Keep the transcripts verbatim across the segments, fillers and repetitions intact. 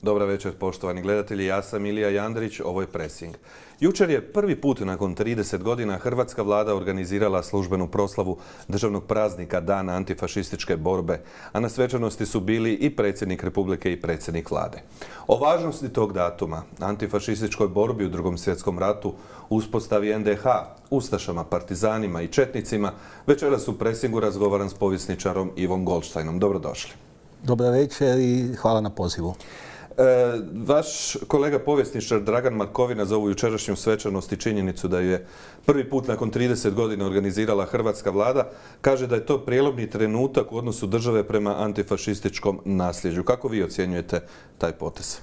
Dobra večer, poštovani gledatelji. Ja sam Ilija Jandrić, ovo je Pressing. Jučer je prvi put nakon trideset godina hrvatska vlada organizirala službenu proslavu državnog praznika Dana antifašističke borbe, a na svečanosti su bili i predsjednik Republike i predsjednik vlade. O važnosti tog datuma, antifašističkoj borbi u Drugom svjetskom ratu, uspostavi en de ha, ustašama, partizanima i četnicima, večeras u Pressingu razgovaram s povjesničarom Ivom Goldsteinom. Dobrodošli. Dobar večer i hvala na pozivu. E, vaš kolega povjesničar Dragan Markovina za ovu jučerašnju svečanost i činjenicu da je prvi put nakon trideset godina organizirala hrvatska vlada, kaže da je to prijelomni trenutak u odnosu države prema antifašističkom nasljeđu. Kako vi ocjenjujete taj potez?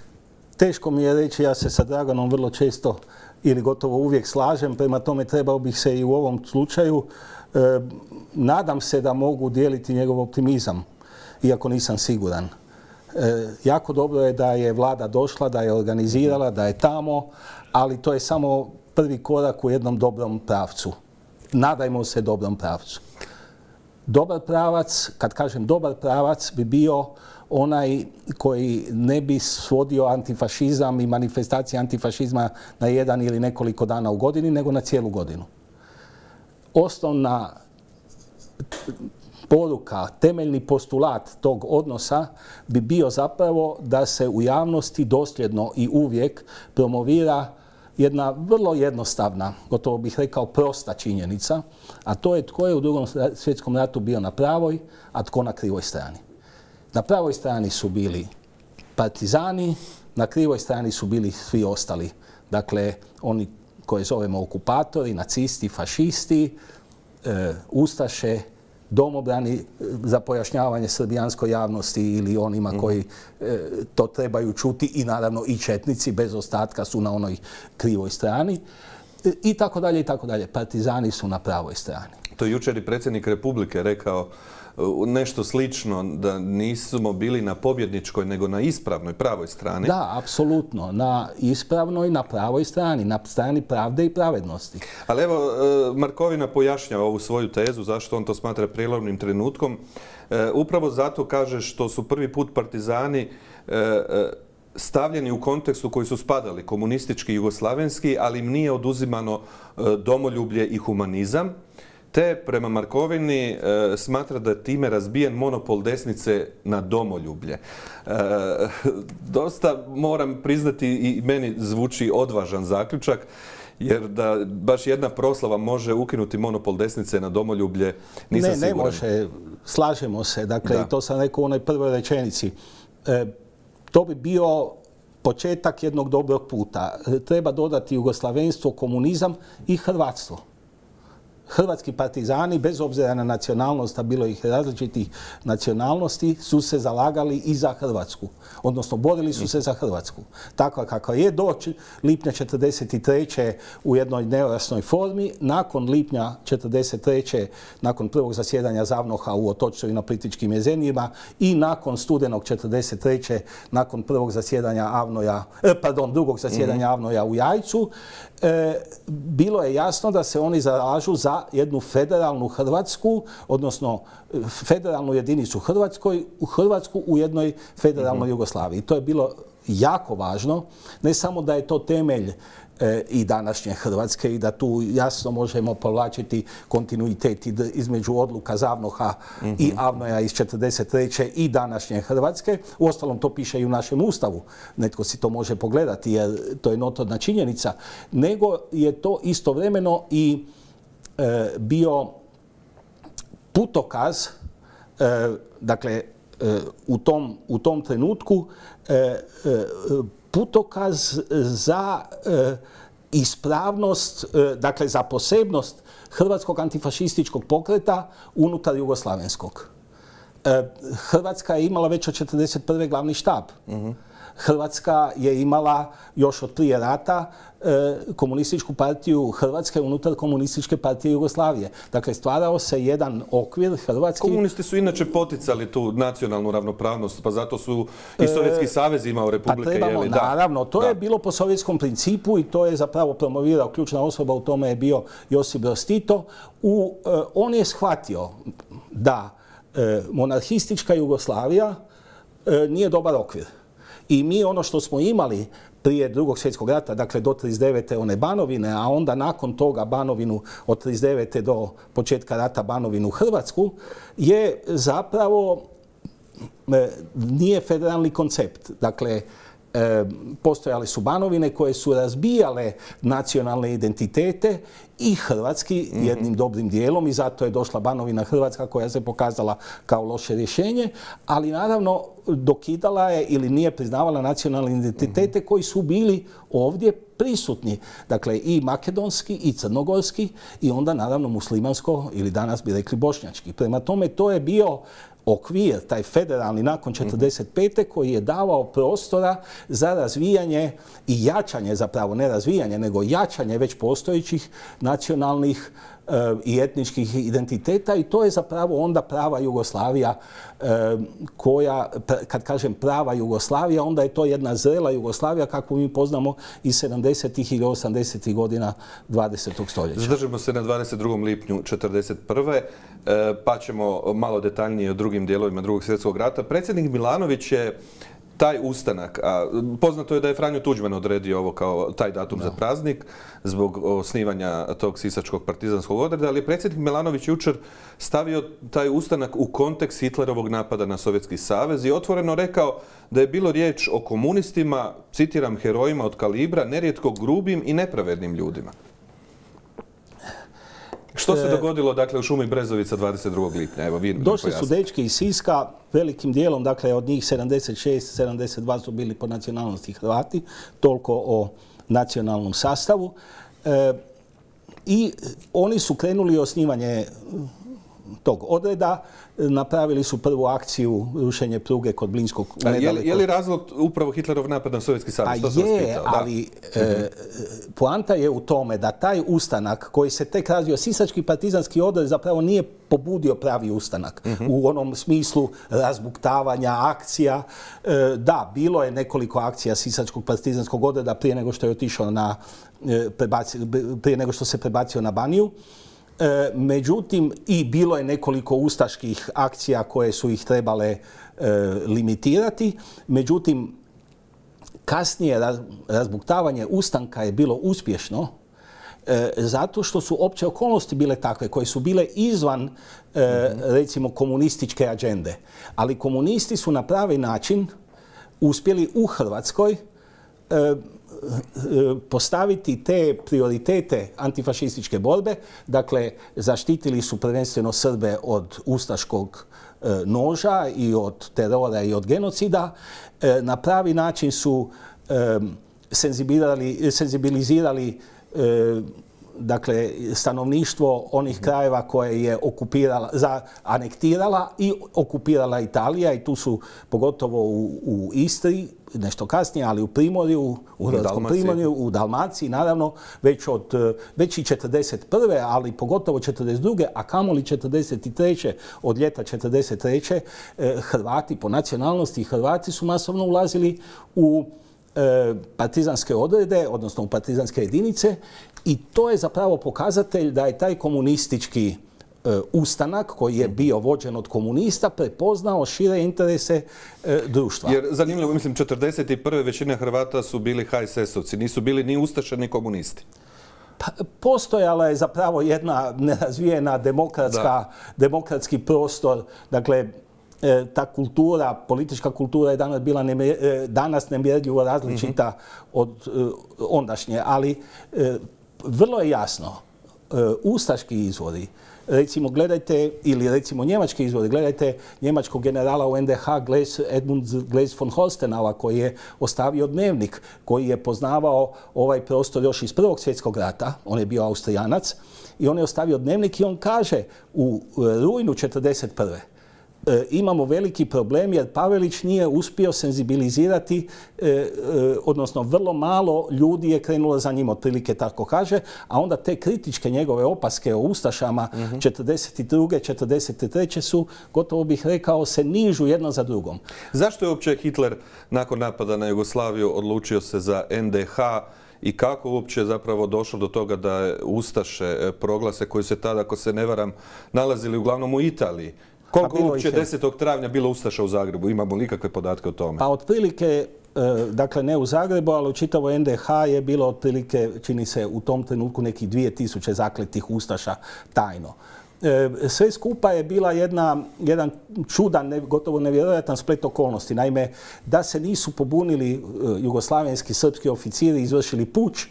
Teško mi je reći, ja se sa Draganom vrlo često ili gotovo uvijek slažem, prema tome trebao bih se i u ovom slučaju. E, nadam se da mogu dijeliti njegov optimizam, iako nisam siguran. E, jako dobro je da je vlada došla, da je organizirala, da je tamo, ali to je samo prvi korak u jednom dobrom pravcu. Nadajmo se dobrom pravcu. Dobar pravac, kad kažem dobar pravac, bi bio onaj koji ne bi svodio antifašizam i manifestacije antifašizma na jedan ili nekoliko dana u godini, nego na cijelu godinu. Osnovna poruka, temeljni postulat tog odnosa bi bio zapravo da se u javnosti dosljedno i uvijek promovira jedna vrlo jednostavna, gotovo bih rekao prosta činjenica, a to je tko je u Drugom svjetskom ratu bio na pravoj, a tko na krivoj strani. Na pravoj strani su bili partizani, na krivoj strani su bili svi ostali. Dakle, oni koje zovemo okupatori, nacisti, fašisti, e, ustaše, domobrani, za pojašnjavanje srbijanskoj javnosti ili onima koji e, to trebaju čuti, i naravno i četnici bez ostatka su na onoj krivoj strani, e, i tako dalje i tako dalje. Partizani su na pravoj strani. To je jučer i predsjednik Republike rekao nešto slično, da nismo bili na pobjedničkoj nego na ispravnoj, pravoj strani. Da, apsolutno. Na ispravnoj, na pravoj strani, na strani pravde i pravednosti. Ali evo, Markovina pojašnjava ovu svoju tezu, zašto on to smatra prijelomnim trenutkom. Upravo zato kaže što su prvi put partizani stavljeni u kontekstu koji su spadali, komunistički i jugoslavenski, ali im nije oduzimano domoljublje i humanizam. Te, prema Markovini, e, smatra da je time razbijen monopol desnice na domoljublje. E, dosta, moram priznati, i meni zvuči odvažan zaključak, jer da baš jedna proslava može ukinuti monopol desnice na domoljublje, nisam siguran. Ne, ne može. Slažemo se. Dakle, da. To sam rekao u onoj prvoj rečenici. E, to bi bio početak jednog dobrog puta. Treba dodati jugoslavenstvo, komunizam i hrvatstvo. Hrvatski partizani, bez obzira na nacionalnost, a bilo ih različitih nacionalnosti, su se zalagali i za Hrvatsku. Odnosno, borili su se za Hrvatsku. Takva kakva je do lipnja četrdeset treće u jednoj nejasnoj formi. Nakon lipnja četrdeset treće, nakon prvog zasjedanja ZAVNOH-a u Otočcu i na Plitvičkim jezerima, i nakon studenog četrdeset treće, nakon prvog zasjedanja Avnoja, eh, pardon, drugog zasjedanja mm-hmm. Avnoja u Jajcu, eh, bilo je jasno da se oni zalažu za jednu federalnu Hrvatsku, odnosno federalnu jedinicu Hrvatskoj, u Hrvatsku u jednoj federalnoj mm-hmm. Jugoslaviji. To je bilo jako važno, ne samo da je to temelj e, i današnje Hrvatske i da tu jasno možemo povlačiti kontinuitet između odluka ZAVNOH-a mm-hmm. i Avnoja iz četrdeset treće i današnje Hrvatske. Uostalom, to piše i u našem Ustavu. Netko si to može pogledati jer to je notorna činjenica. Nego je to istovremeno i e, bio putokaz, e, dakle, u tom, u tom trenutku putokaz za ispravnost, dakle za posebnost hrvatskog antifašističkog pokreta unutar jugoslavenskog. Hrvatska je imala već od četrdeset prve glavni štab. Mm-hmm. Hrvatska je imala još od prije rata komunističku partiju Hrvatske unutar komunističke partije Jugoslavije. Dakle, stvarao se jedan okvir hrvatski. Komunisti su inače poticali tu nacionalnu ravnopravnost, pa zato su i Sovjetski savez imao republike. Pa trebamo, jeli, naravno, to da. je bilo po sovjetskom principu i to je zapravo promovirao, ključna osoba u tome je bio Josip Broz Tito. U, on je shvatio da monarhistička Jugoslavija nije dobar okvir. I mi ono što smo imali prije drugog svjetskog rata, dakle do trideset devete one Banovine, a onda nakon toga Banovinu od trideset devete do početka rata Banovinu Hrvatsku, je zapravo nije federalni koncept. Dakle, E, postojale su Banovine koje su razbijale nacionalne identitete i hrvatski mm-hmm. jednim dobrim dijelom i zato je došla Banovina Hrvatska koja se pokazala kao loše rješenje, ali naravno dokidala je ili nije priznavala nacionalne identitete mm-hmm. koji su bili ovdje prisutni. Dakle, i makedonski i crnogorski i onda naravno muslimansko ili danas bi rekli bošnjački. Prema tome, to je bio okvir, taj federalni nakon četrdeset pete koji je davao prostora za razvijanje i jačanje, zapravo ne razvijanje, nego jačanje već postojećih nacionalnih e, i etničkih identiteta i to je zapravo onda prava Jugoslavija e, koja, kad kažem prava Jugoslavija, onda je to jedna zrela Jugoslavija kakvu mi poznamo iz sedamdesetih ili osamdesetih godina dvadesetog stoljeća. Zadržimo se na dvadeset drugom lipnju četrdeset prve pa ćemo malo detaljnije o drugim dijelovima drugog svjetskog rata. Predsjednik Milanović je taj ustanak, a poznato je da je Franjo Tuđman odredio ovo kao taj datum no. za praznik zbog osnivanja tog sisačkog partizanskog odreda, ali predsjednik Milanović jučer stavio taj ustanak u kontekst Hitlerovog napada na Sovjetski savez i otvoreno rekao da je bilo riječ o komunistima, citiram, herojima od kalibra, nerijetko grubim i nepravednim ljudima. Što se dogodilo dakle u šumi Brezovica dvadeset drugog lipnja? Evo, vi došli su dečki iz Siska, velikim dijelom, dakle od njih sedamdeset šest sedamdeset dva su bili po nacionalnosti Hrvati, toliko o nacionalnom sastavu. E, I oni su krenuli osnivanje tog odreda, napravili su prvu akciju rušenje pruge kod Blinskog. Je li, je li razlog upravo Hitlerov napad na Sovjetski savez? Pa je, ali e, poanta je u tome da taj ustanak koji se tek razvio, sisački partizanski odred zapravo nije pobudio pravi ustanak uh-huh. u onom smislu razbuktavanja akcija. E, da, bilo je nekoliko akcija sisačkog partizanskog odreda prije nego što je otišao na, e, prebaci, prije nego što se prebacio na Baniju. E, međutim, i bilo je nekoliko ustaških akcija koje su ih trebale e, limitirati. Međutim, kasnije raz, razbuktavanje ustanka je bilo uspješno e, zato što su opće okolnosti bile takve koje su bile izvan e, mm-hmm. recimo komunističke agende. Ali komunisti su na pravi način uspjeli u Hrvatskoj e, postaviti te prioritete antifašističke borbe. Dakle, zaštitili su prvenstveno Srbe od ustaškog e, noža i od terora i od genocida. E, na pravi način su e, senzibilizirali, senzibilizirali e, dakle, stanovništvo onih krajeva koje je okupirala, za, anektirala i okupirala Italija i tu su pogotovo u, u Istri, nešto kasnije, ali u Primorju, u Hrvatskom Primorju, u Dalmaciji, naravno, već od već i četrdeset prve, ali pogotovo četrdeset druge, a kamoli četrdeset treće od ljeta četrdeset treće Hrvati po nacionalnosti, Hrvati su masovno ulazili u e, partizanske odrede, odnosno u partizanske jedinice i to je zapravo pokazatelj da je taj komunistički ustanak koji je bio vođen od komunista prepoznao šire interese e, društva. Jer zanimljivo, mislim, četrdeset prve većina Hrvata su bili ha es es-ovci, nisu bili ni ustaše ni komunisti. Pa, postojala je zapravo jedna nerazvijena demokratska, demokratski prostor, dakle, e, ta kultura, politička kultura je danas bila nemjer, e, danas nemjerljivo različita mm-hmm. od e, ondašnje, ali e, vrlo je jasno, e, ustaški izvori, recimo gledajte, ili recimo njemački izvori, gledajte njemačkog generala u en de ha Gleis, Edmund Gleis von Holstenauer koji je ostavio dnevnik, koji je poznavao ovaj prostor još iz Prvog svjetskog rata, on je bio Austrijanac, i on je ostavio dnevnik i on kaže u rujnu četrdeset prve E, imamo veliki problem jer Pavelić nije uspio senzibilizirati, e, e, odnosno vrlo malo ljudi je krenulo za njim, otprilike tako kaže, a onda te kritičke njegove opaske o ustašama mm-hmm. četrdeset druge četrdeset treće su, gotovo bih rekao, se nižu jedno za drugom. Zašto je uopće Hitler nakon napada na Jugoslaviju odlučio se za en de ha i kako uopće zapravo došlo do toga da je ustaše proglase koji se tada, ako se ne varam, nalazili uglavnom u Italiji? Koliko uopće desetog travnja bilo ustaša u Zagrebu? Imamo li ikakve podatke o tome? Pa otprilike dakle ne u Zagrebu, ali u čitavoj N D H je bilo otprilike, čini se u tom trenutku, nekih dvije tisuće zakletih ustaša tajno. Sve skupa je bila jedna, jedan čudan, gotovo nevjerojatan splet okolnosti. Naime, da se nisu pobunili jugoslavenski srpski oficiri, izvršili puč,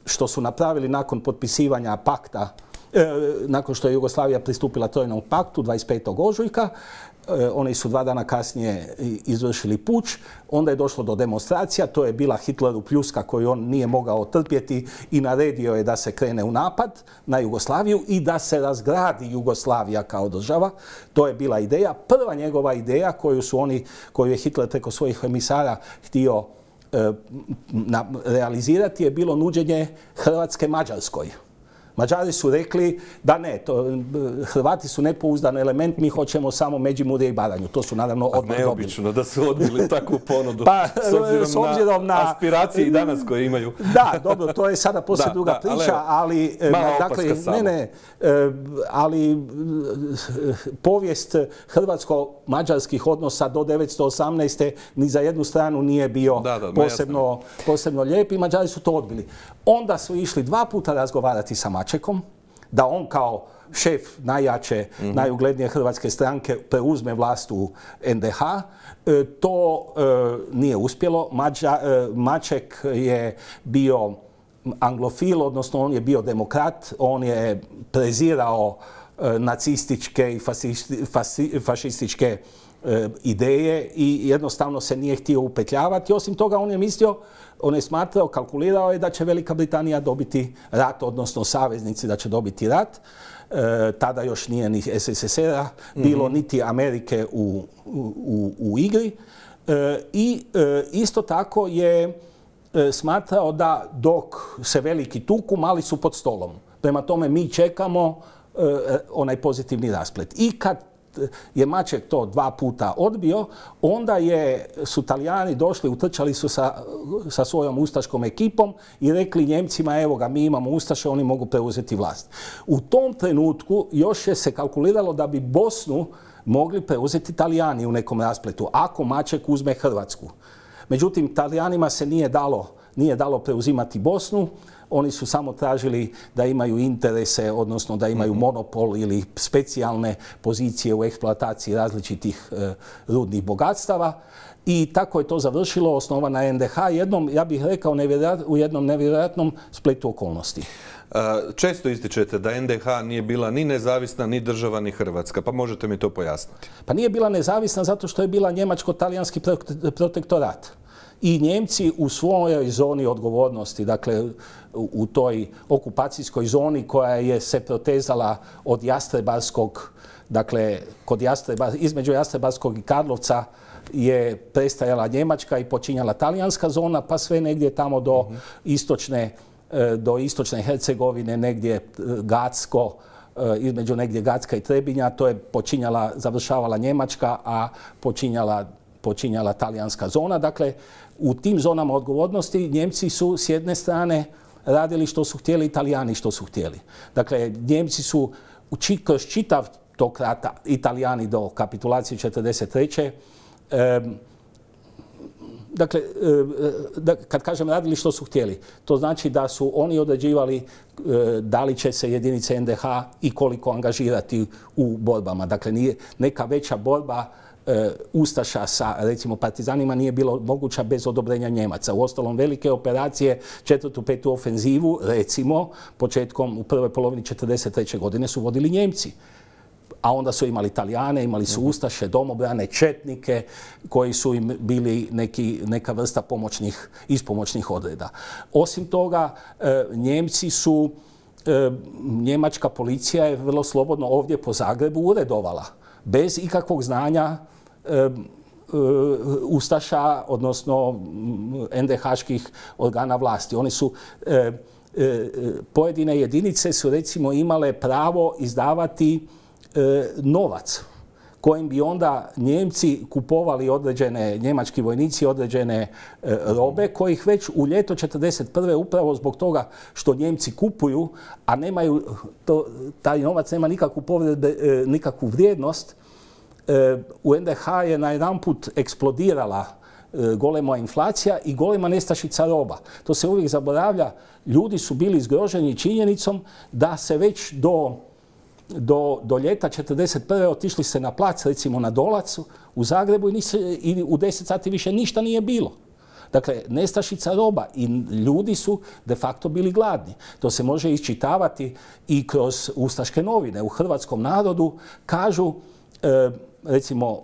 što su napravili nakon potpisivanja pakta, nakon što je Jugoslavija pristupila Trojnom paktu dvadeset petog ožujka, oni su dva dana kasnije izvršili puč, onda je došlo do demonstracija, to je bila Hitleru pljuska koju on nije mogao trpjeti i naredio je da se krene u napad na Jugoslaviju i da se razgradi Jugoslavija kao država. To je bila ideja, prva njegova ideja koju su oni, koju je Hitler preko svojih emisara htio e, na, realizirati je bilo nuđenje Hrvatske Mađarskoj. Mađari su rekli da ne, to, Hrvati su nepouzdan element, mi hoćemo samo Međimurje i Baranju. To su naravno odmah dobili. Neobično da su odbili takvu ponudu, pa, s obzirom, s obzirom na, na aspiracije i danas koje imaju. Da, dobro, to je sada poslije da, druga da, priča, ali, ali dakle, ne, ne, ali povijest hrvatsko-mađarskih odnosa do devetsto osamnaeste ni za jednu stranu nije bio da, da, posebno, posebno lijep i Mađari su to odbili. Onda su išli dva puta razgovarati sa Mačekom, da on kao šef najjače, mm-hmm. najuglednije hrvatske stranke preuzme vlast u N D H. E, to e, nije uspjelo. Mađa, e, Maček je bio anglofil, odnosno on je bio demokrat, on je prezirao e, nacističke i fasisti, fasi, fašističke e, ideje i jednostavno se nije htio upetljavati. Osim toga, on je mislio, on je smatrao, kalkulirao je da će Velika Britanija dobiti rat, odnosno saveznici da će dobiti rat. E, tada još nije ni S S S R-a bilo, mm-hmm. niti Amerike u, u, u igri. E, I e, isto tako je e, smatrao da dok se veliki tuku, mali su pod stolom. Prema tome mi čekamo e, onaj pozitivni rasplet. I kad je Maček to dva puta odbio, onda je, su Talijani došli, utrčali su sa, sa svojom ustaškom ekipom i rekli Njemcima, evo ga, mi imamo ustaše, oni mogu preuzeti vlast. U tom trenutku još je se kalkuliralo da bi Bosnu mogli preuzeti Talijani u nekom raspletu, ako Maček uzme Hrvatsku. Međutim, Talijanima se nije dalo, nije dalo preuzimati Bosnu. Oni su samo tražili da imaju interese, odnosno da imaju monopol ili specijalne pozicije u eksploataciji različitih e, rudnih bogatstava. I tako je to završilo, osnovana N D H, jednom, ja bih rekao, u jednom nevjerojatnom spletu okolnosti. Često ističete da N D H nije bila ni nezavisna, ni država, ni Hrvatska. Pa možete mi to pojasniti? Pa nije bila nezavisna zato što je bila njemačko-talijanski protektorat. I Njemci u svojoj zoni odgovornosti, dakle u toj okupacijskoj zoni koja je se protezala od Jastrebarskog, dakle kod Jastreba, između Jastrebarskog i Karlovca je prestajala Njemačka i počinjala talijanska zona, pa sve negdje tamo do mm-hmm. istočne, do istočne Hercegovine, negdje Gacko, između negdje Gacka i Trebinja, to je počinjala, završavala Njemačka, a počinjala počinjala talijanska zona. Dakle, u tim zonama odgovornosti Njemci su s jedne strane radili što su htjeli, Italijani što su htjeli. Dakle, Njemci su kroz čitav tog rata, Italijani do kapitulacije četrdeset treće E, dakle, e, kad kažem radili što su htjeli, to znači da su oni određivali e, da li će se jedinice N D H i koliko angažirati u borbama. Dakle, nije neka veća borba ustaša sa, recimo, partizanima nije bilo moguća bez odobrenja Njemaca. U ostalom, velike operacije, četvrtu, petu ofenzivu, recimo, početkom u prvoj polovini četrdeset treće godine su vodili Njemci. A onda su imali Italijane, imali su ustaše, domobrane, četnike, koji su im bili neki, neka vrsta pomoćnih, ispomoćnih odreda. Osim toga, Njemci su, njemačka policija je vrlo slobodno ovdje po Zagrebu uredovala, bez ikakvog znanja ustaša, odnosno N D H-ških organa vlasti. Oni su, pojedine jedinice su recimo imale pravo izdavati novac kojim bi onda Njemci kupovali određene, njemački vojnici određene robe kojih već u ljeto četrdeset prve upravo zbog toga što Njemci kupuju, a nemaju, to, taj novac nema nikakvu, povredbe, nikakvu vrijednost, u N D H je najedanput eksplodirala golema inflacija i golema nestašica roba. To se uvijek zaboravlja. Ljudi su bili zgroženi činjenicom da se već do, do, do ljeta četrdeset prve otišli se na plac, recimo na Dolac u Zagrebu i, nisi, i u deset sati više ništa nije bilo. Dakle, nestašica roba i ljudi su de facto bili gladni. To se može iščitavati i kroz ustaške novine. U hrvatskom narodu kažu, e, recimo,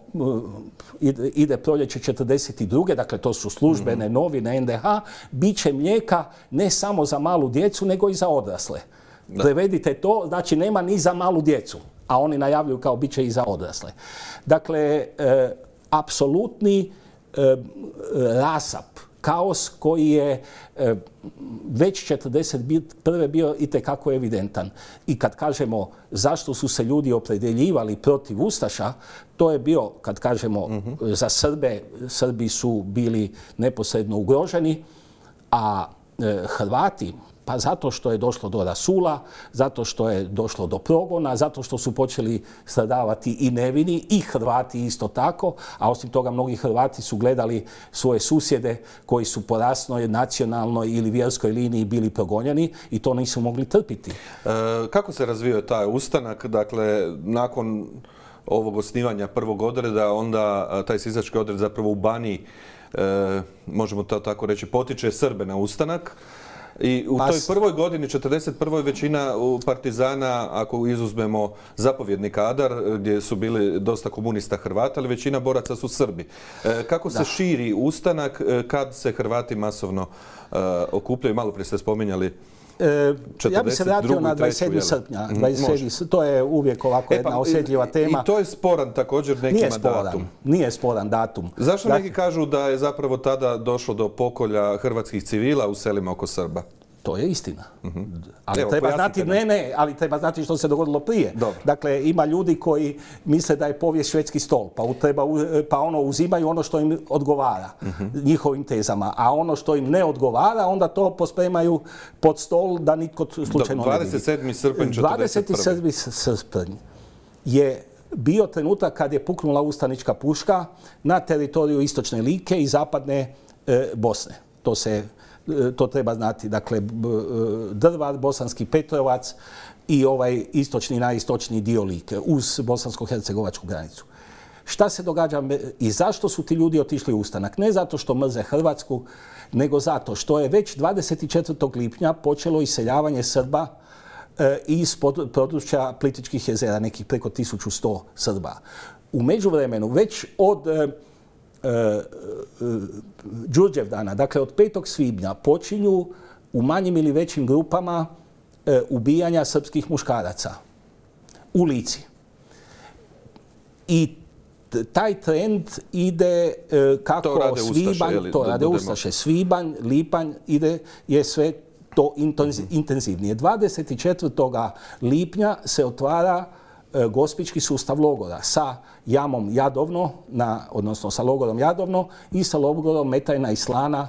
ide, ide proljeće četrdeset druge dakle to su službene novine en de ha, bit će mlijeka ne samo za malu djecu, nego i za odrasle. Da. Prevedite to, znači nema ni za malu djecu, a oni najavljuju kao bit će i za odrasle. Dakle, e, apsolutni e, rasap, kaos koji je e, već četrdeset prve bio itekako evidentan. I kad kažemo zašto su se ljudi opredjeljivali protiv ustaša, to je bio, kad kažemo mm-hmm. za Srbe, Srbi su bili neposredno ugroženi, a e, Hrvati, pa zato što je došlo do rasula, zato što je došlo do progona, zato što su počeli stradavati i nevini i Hrvati isto tako, a osim toga mnogi Hrvati su gledali svoje susjede koji su po rasnoj, nacionalnoj ili vjerskoj liniji bili progonjeni i to nisu mogli trpiti. E, kako se razvio taj ustanak? Dakle, nakon ovog osnivanja prvog odreda, onda taj sisački odred zapravo u Baniji, e, možemo to tako reći, potiče Srbe na ustanak. I u toj prvoj godini, četrdeset prvoj većina partizana, ako izuzmemo zapovjedni kadar, gdje su bili dosta komunista Hrvata, ali većina boraca su Srbi. E, kako se da. širi ustanak kad se Hrvati masovno e, okupljaju? Malo prije ste spominjali. E, ja bih se vratio na dvadeset sedmog srpnja. dvadeset sedmog To je uvijek ovako jedna e pa, osjetljiva tema. I to je sporan također nekima nije sporan, datum. Nije sporan datum. Zašto dakle, neki kažu da je zapravo tada došlo do pokolja hrvatskih civila u selima oko Srba? To je istina. Mm-hmm. Ali Evo, treba znati, ne, ne, ali treba znati što se dogodilo prije. Dobro. Dakle, ima ljudi koji misle da je povijest švedski stol, pa, treba, pa ono uzimaju ono što im odgovara mm-hmm. njihovim tezama, a ono što im ne odgovara, onda to pospremaju pod stol da nitko slučajno ne vidi. dvadeset sedmi srpanj četrdeset prve dvadeset sedmi srpanj je bio trenutak kad je puknula ustanička puška na teritoriju istočne Like i zapadne e, Bosne. To se To treba znati, dakle, Drvar, Bosanski Petrovac i ovaj istočni, najistočniji dio Like uz bosansko-hercegovačku granicu. Šta se događa i zašto su ti ljudi otišli u ustanak? Ne zato što mrze Hrvatsku, nego zato što je već dvadeset četvrtog lipnja počelo iseljavanje Srba iz područja Plitvičkih jezera, nekih preko tisuću sto Srba. U međuvremenu, već od Đurđevdana, dakle od petog svibnja, počinju u manjim ili većim grupama e, ubijanja srpskih muškaraca u Lici. I taj trend ide e, kako to rade svibanj, ustaše, jeli, to rade ustaše, svibanj, lipanj, ide, je sve to intenzivnije. dvadeset četvrtog lipnja se otvara gospićki sustav logora sa jamom Jadovno, na, odnosno sa logorom Jadovno i sa logorom Metajna i Slana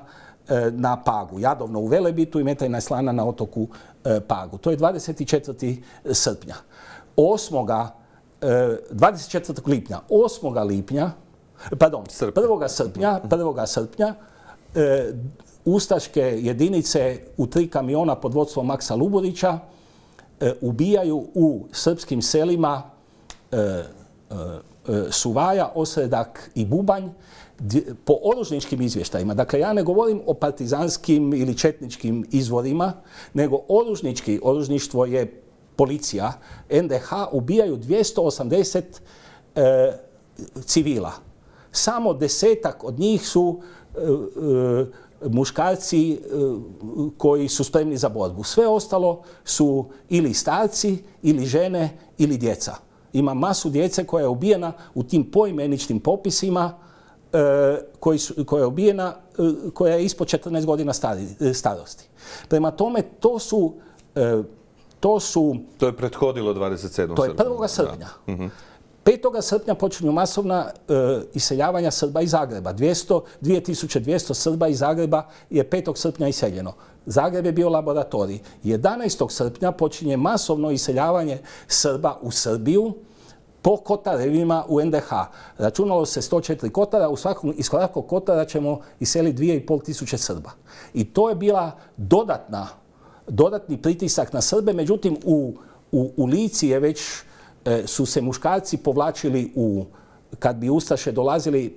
e, na Pagu. Jadovno u Velebitu i Metajna i Slana na otoku e, Pagu. To je dvadeset četvrtog srpnja. osmoga E, dvadeset četvrtog lipnja. osmoga lipnja, pardon, prvog srpnja, prvog srpnja e, ustaške jedinice u tri kamiona pod vodstvom Maksa Luburića ubijaju u srpskim selima e, e, Suvaja, Osredak i Bubanj po oružničkim izvještajima. Dakle, ja ne govorim o partizanskim ili četničkim izvorima, nego oružnički, oružništvo je policija, en de ha ubijaju dvjesto osamdeset e, civila. Samo desetak od njih su e, e, muškarci koji su spremni za borbu. Sve ostalo su ili starci, ili žene, ili djeca. Ima masu djece koja je ubijena u tim poimeničnim popisima koji su, koja je ubijena, koja je ispod četrnaest godina stari, starosti. Prema tome, to su... To su... To je prethodilo dvadeset sedmog To je prvog srpnja. Da. petog srpnja počinju masovna e, iseljavanja Srba iz Zagreba. dvije tisuće dvjesto Srba iz Zagreba je petog srpnja iseljeno. Zagreb je bio laboratorij. jedanaestog srpnja počinje masovno iseljavanje Srba u Srbiju po kotarevima u en de ha. Računalo se sto četiri kotara, u svakom, iz svakog kotara ćemo iseliti dvije i pol tisuće Srba. I to je bila dodatna, dodatni pritisak na Srbe, međutim u, u, u Lici je već e, su se muškarci povlačili u, kad bi ustaše dolazili,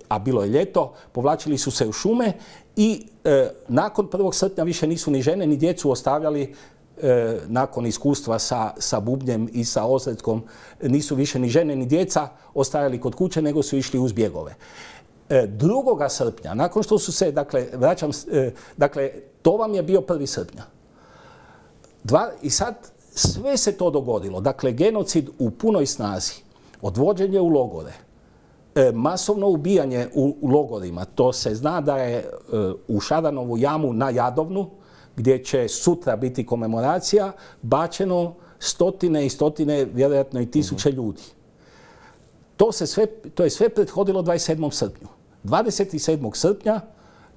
a bilo je ljeto, povlačili su se u šume i e, nakon prvog srpnja više nisu ni žene ni djecu ostavljali. E, nakon iskustva sa, sa bubnjem i sa ozretkom, nisu više ni žene ni djeca ostajali kod kuće, nego su išli uz bjegove. E, drugoga srpnja, nakon što su se, dakle, vraćam, e, dakle, to vam je bio prvi srpnja. Dva, I sad sve se to dogodilo. Dakle, genocid u punoj snazi, odvođenje u logore, e, masovno ubijanje u, u logorima. To se zna da je e, u Šaranovu jamu na Jadovnu, gdje će sutra biti komemoracija, bačeno stotine i stotine, vjerojatno i tisuće ljudi. To, se sve, to je sve prethodilo dvadeset sedmom srpnju. dvadeset sedmog srpnja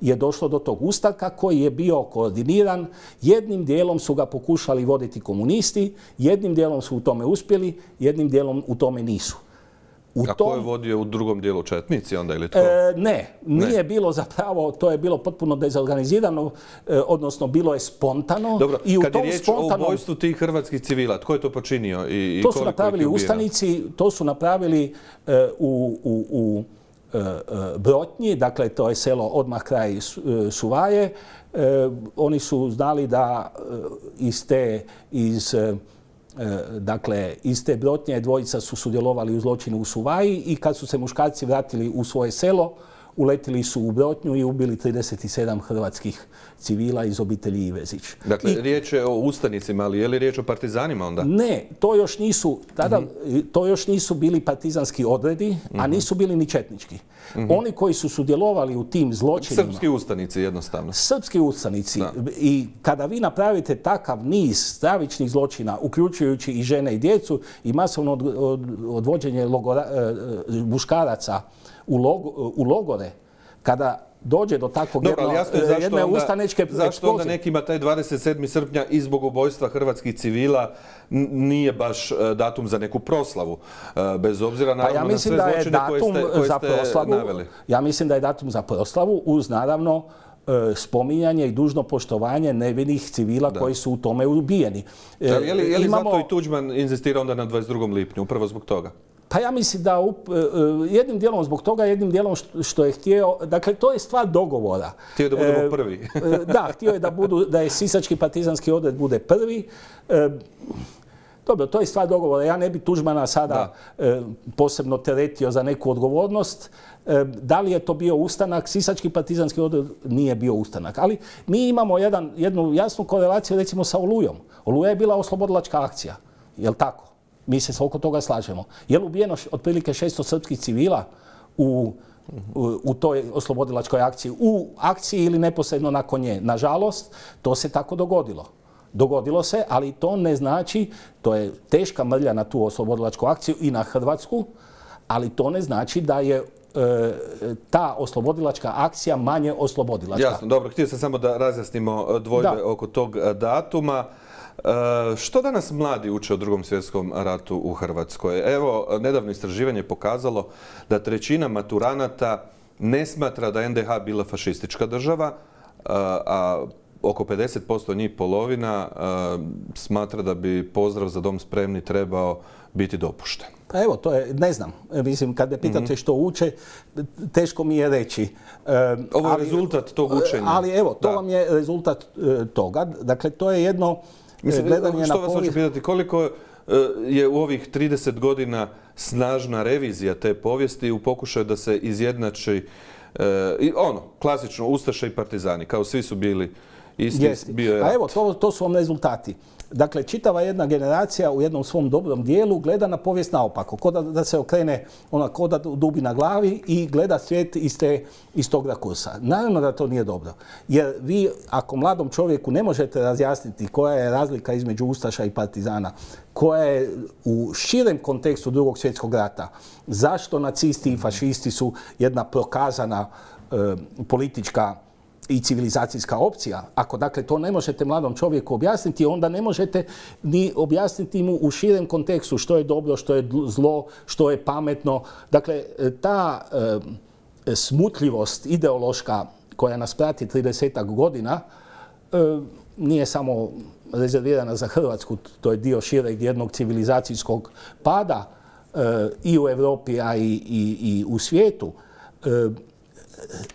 je došlo do tog ustanka koji je bio koordiniran. Jednim dijelom su ga pokušali voditi komunisti, jednim dijelom su u tome uspjeli, jednim dijelom u tome nisu. U A tom, ko je vodio u drugom dijelu, četnici onda ili tko? E, ne, nije ne. bilo zapravo, to je bilo potpuno dezorganizirano, e, odnosno bilo je spontano. Dobro, i u kad tom je riječ spontanom, o ubojstvu tih hrvatskih civila, tko je to počinio i, i to su napravili ustanici, to su napravili e, u, u, u e, Brotnji, dakle to je selo odmah kraj Suvaje. E, oni su znali da iz te, iz Dakle, iz te Brotnje dvojica su sudjelovali u zločinu u Suvaji i kad su se muškarci vratili u svoje selo, uletili su u Brotnju i ubili trideset sedam hrvatskih civila iz obitelji Ivezić. Dakle, I, riječ je o ustanicima, ali je li riječ o partizanima onda? Ne, to još nisu, tada, mm-hmm. to još nisu bili partizanski odredi, mm-hmm. a nisu bili ni četnički. Mm-hmm. Oni koji su sudjelovali u tim zločinima... Srpski ustanici, jednostavno. Srpski ustanici. Da. I kada vi napravite takav niz stravičnih zločina, uključujući i žene i djecu, i masovno od, od, odvođenje logora, muškaraca u, log, u logore, kada dođe do takvog Dobro, jedno, jasno je zašto jedne onda, ustanečke zašto eksplozije. Onda nekima taj dvadeset sedmi srpnja i zbog ubojstva hrvatskih civila nije baš datum za neku proslavu, bez obzira naravno pa ja na sve zločine koje ste, koje ste proslavu, naveli. Ja mislim da je datum za proslavu uz naravno spominjanje i dužno poštovanje nevinih civila da. koji su u tome ubijeni. Da, je li, je li Imamo... zato i Tuđman inzistira onda na dvadeset drugom lipnju, upravo zbog toga? Pa ja mislim da up, jednim dijelom zbog toga, jednim dijelom što je htio, dakle to je stvar dogovora. Htio je da budemo prvi. Da, htio je da, budu, da je Sisački partizanski odred bude prvi. Dobro, to je stvar dogovora. Ja ne bi Tuđmana sada da. posebno teretio za neku odgovornost. Da li je to bio ustanak? Sisački partizanski odred nije bio ustanak. Ali mi imamo jedan, jednu jasnu korelaciju recimo sa Olujom. Oluja je bila oslobodilačka akcija. Je li tako? Mi se oko toga slažemo. Je li ubijeno otprilike šesto srpskih civila u, u, u toj oslobodilačkoj akciji? U akciji ili neposredno nakon nje? Nažalost, to se tako dogodilo. Dogodilo se, ali to ne znači, to je teška mrlja na tu oslobodilačku akciju i na Hrvatsku, ali to ne znači da je e, ta oslobodilačka akcija manje oslobodilačka. Jasno, dobro. Htio sam samo da razjasnimo dvojbe da. oko tog datuma. E, što danas mladi uče o Drugom svjetskom ratu u Hrvatskoj? Evo, nedavno istraživanje je pokazalo da trećina maturanata ne smatra da je en de ha bila fašistička država, a, a oko pedeset posto njih, polovina, a, smatra da bi pozdrav za dom spremni trebao biti dopušten. Pa evo, to je, ne znam, mislim, kad me pitate mm-hmm. što uče, teško mi je reći. E, Ovo je ali, rezultat tog učenja. Ali evo, to da. vam je rezultat e, toga. Dakle, to je jedno Mislim, gledanje što na vas hoću pitati, koliko je u ovih trideset godina snažna revizija te povijesti u pokušaju da se izjednači e, i ono, klasično, ustaše i partizani, kao svi su bili isti. Jesti. Bio je A evo, to, to su vam rezultati. Dakle, čitava jedna generacija u jednom svom dobrom dijelu gleda na povijest naopako, ko da, da se okrene ona ko da dubi na glavi i gleda svijet iz, te, iz tog rakursa. Naravno da to nije dobro. Jer vi, ako mladom čovjeku ne možete razjasniti koja je razlika između ustaša i partizana, koja je u širem kontekstu Drugog svjetskog rata, zašto nacisti i fašisti su jedna prokazana e, politička i civilizacijska opcija. Ako dakle to ne možete mladom čovjeku objasniti, onda ne možete ni objasniti mu u širem kontekstu što je dobro, što je zlo, što je pametno. Dakle, ta e, smutljivost ideološka koja nas prati tridesetak godina e, nije samo rezervirana za Hrvatsku, to je dio šireg jednog civilizacijskog pada e, i u Europi, a i, i, i u svijetu. E,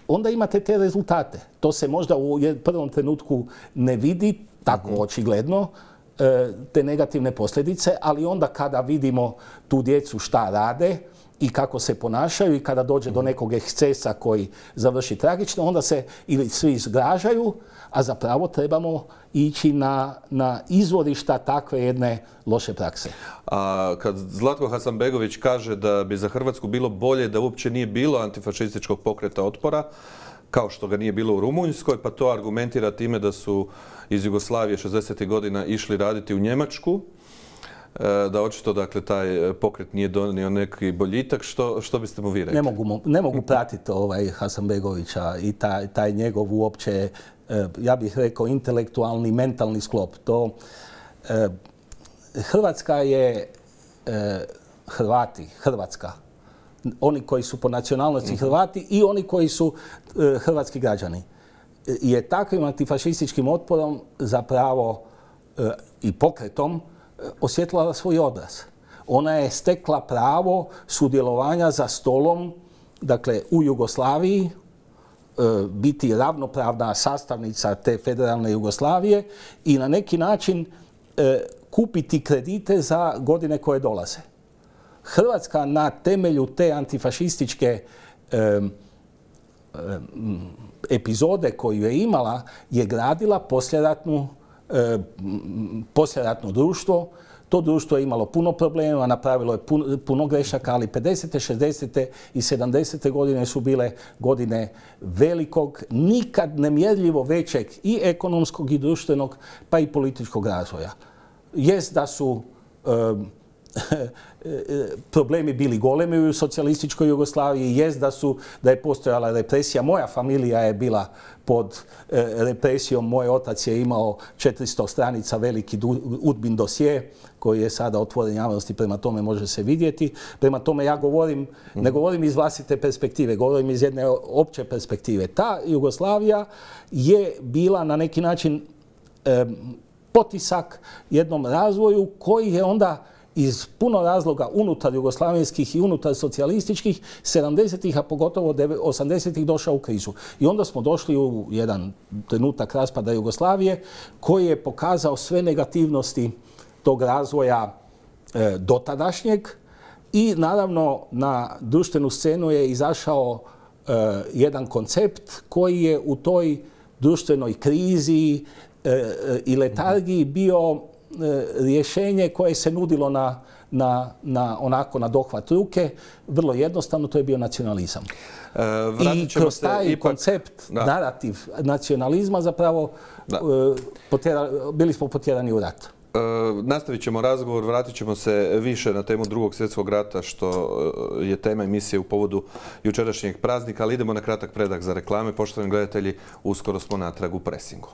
onda imate te rezultate. To se možda u prvom trenutku ne vidi tako očigledno, te negativne posljedice, ali onda kada vidimo tu djecu šta rade i kako se ponašaju i kada dođe do nekog ekscesa koji završi tragično, onda se ili svi zgražaju, a zapravo trebamo ići na, na izvorišta takve jedne loše prakse. A kad Zlatko Hasanbegović kaže da bi za Hrvatsku bilo bolje da uopće nije bilo antifašističkog pokreta otpora, kao što ga nije bilo u Rumunjskoj, pa to argumentira time da su iz Jugoslavije šezdesetih godina išli raditi u Njemačku, da očito dakle taj pokret nije donio neki boljitak. Što, što biste mu vi rekli? Ne mogu, ne mogu pratiti ovaj Hasanbegovića i taj, taj njegov uopće, ja bih rekao, intelektualni, mentalni sklop. To, eh, Hrvatska je eh, Hrvati, Hrvatska. Oni koji su po nacionalnosti Hrvati i oni koji su eh, hrvatski građani. Je takvim antifašističkim otporom zapravo eh, i pokretom osjetila svoj obraz. Ona je stekla pravo sudjelovanja za stolom, dakle u Jugoslaviji, biti ravnopravna sastavnica te federalne Jugoslavije i na neki način kupiti kredite za godine koje dolaze. Hrvatska na temelju te antifašističke epizode koju je imala je gradila poslijeratnu poslijeratno društvo. To društvo je imalo puno problema, napravilo je puno, puno grešaka, ali pedesete, šezdesete i sedamdesete godine su bile godine velikog, nikad nemjerljivo većeg i ekonomskog i društvenog, pa i političkog razvoja. Jest da su um, problemi bili golemi u socijalističkoj Jugoslaviji, jest da, su, da je postojala represija. Moja familija je bila pod e, represijom. Moj otac je imao četiristo stranica veliki udbin dosje koji je sada otvoren javnosti, prema tome može se vidjeti. Prema tome ja govorim, mm-hmm. ne govorim iz vlastite perspektive, govorim iz jedne opće perspektive. Ta Jugoslavija je bila na neki način e, potisak jednom razvoju koji je onda iz puno razloga unutar jugoslavenskih i unutar socijalističkih sedamdesetih, a pogotovo osamdesetih došao u krizu. I onda smo došli u jedan trenutak raspada Jugoslavije koji je pokazao sve negativnosti tog razvoja e, dotadašnjeg i naravno na društvenu scenu je izašao e, jedan koncept koji je u toj društvenoj krizi e, i letargiji bio rješenje koje se nudilo na, na, na, onako na dohvat ruke. Vrlo jednostavno, to je bio nacionalizam. E, I kroz taj ipak koncept, da. narativ nacionalizma zapravo potjera, bili smo potjerani u rat. E, nastavit ćemo razgovor, vratit ćemo se više na temu Drugog svjetskog rata, što je tema emisije u povodu jučerašnjeg praznika, ali idemo na kratak predah za reklame. Poštovani gledatelji, uskoro smo natrag u presingu.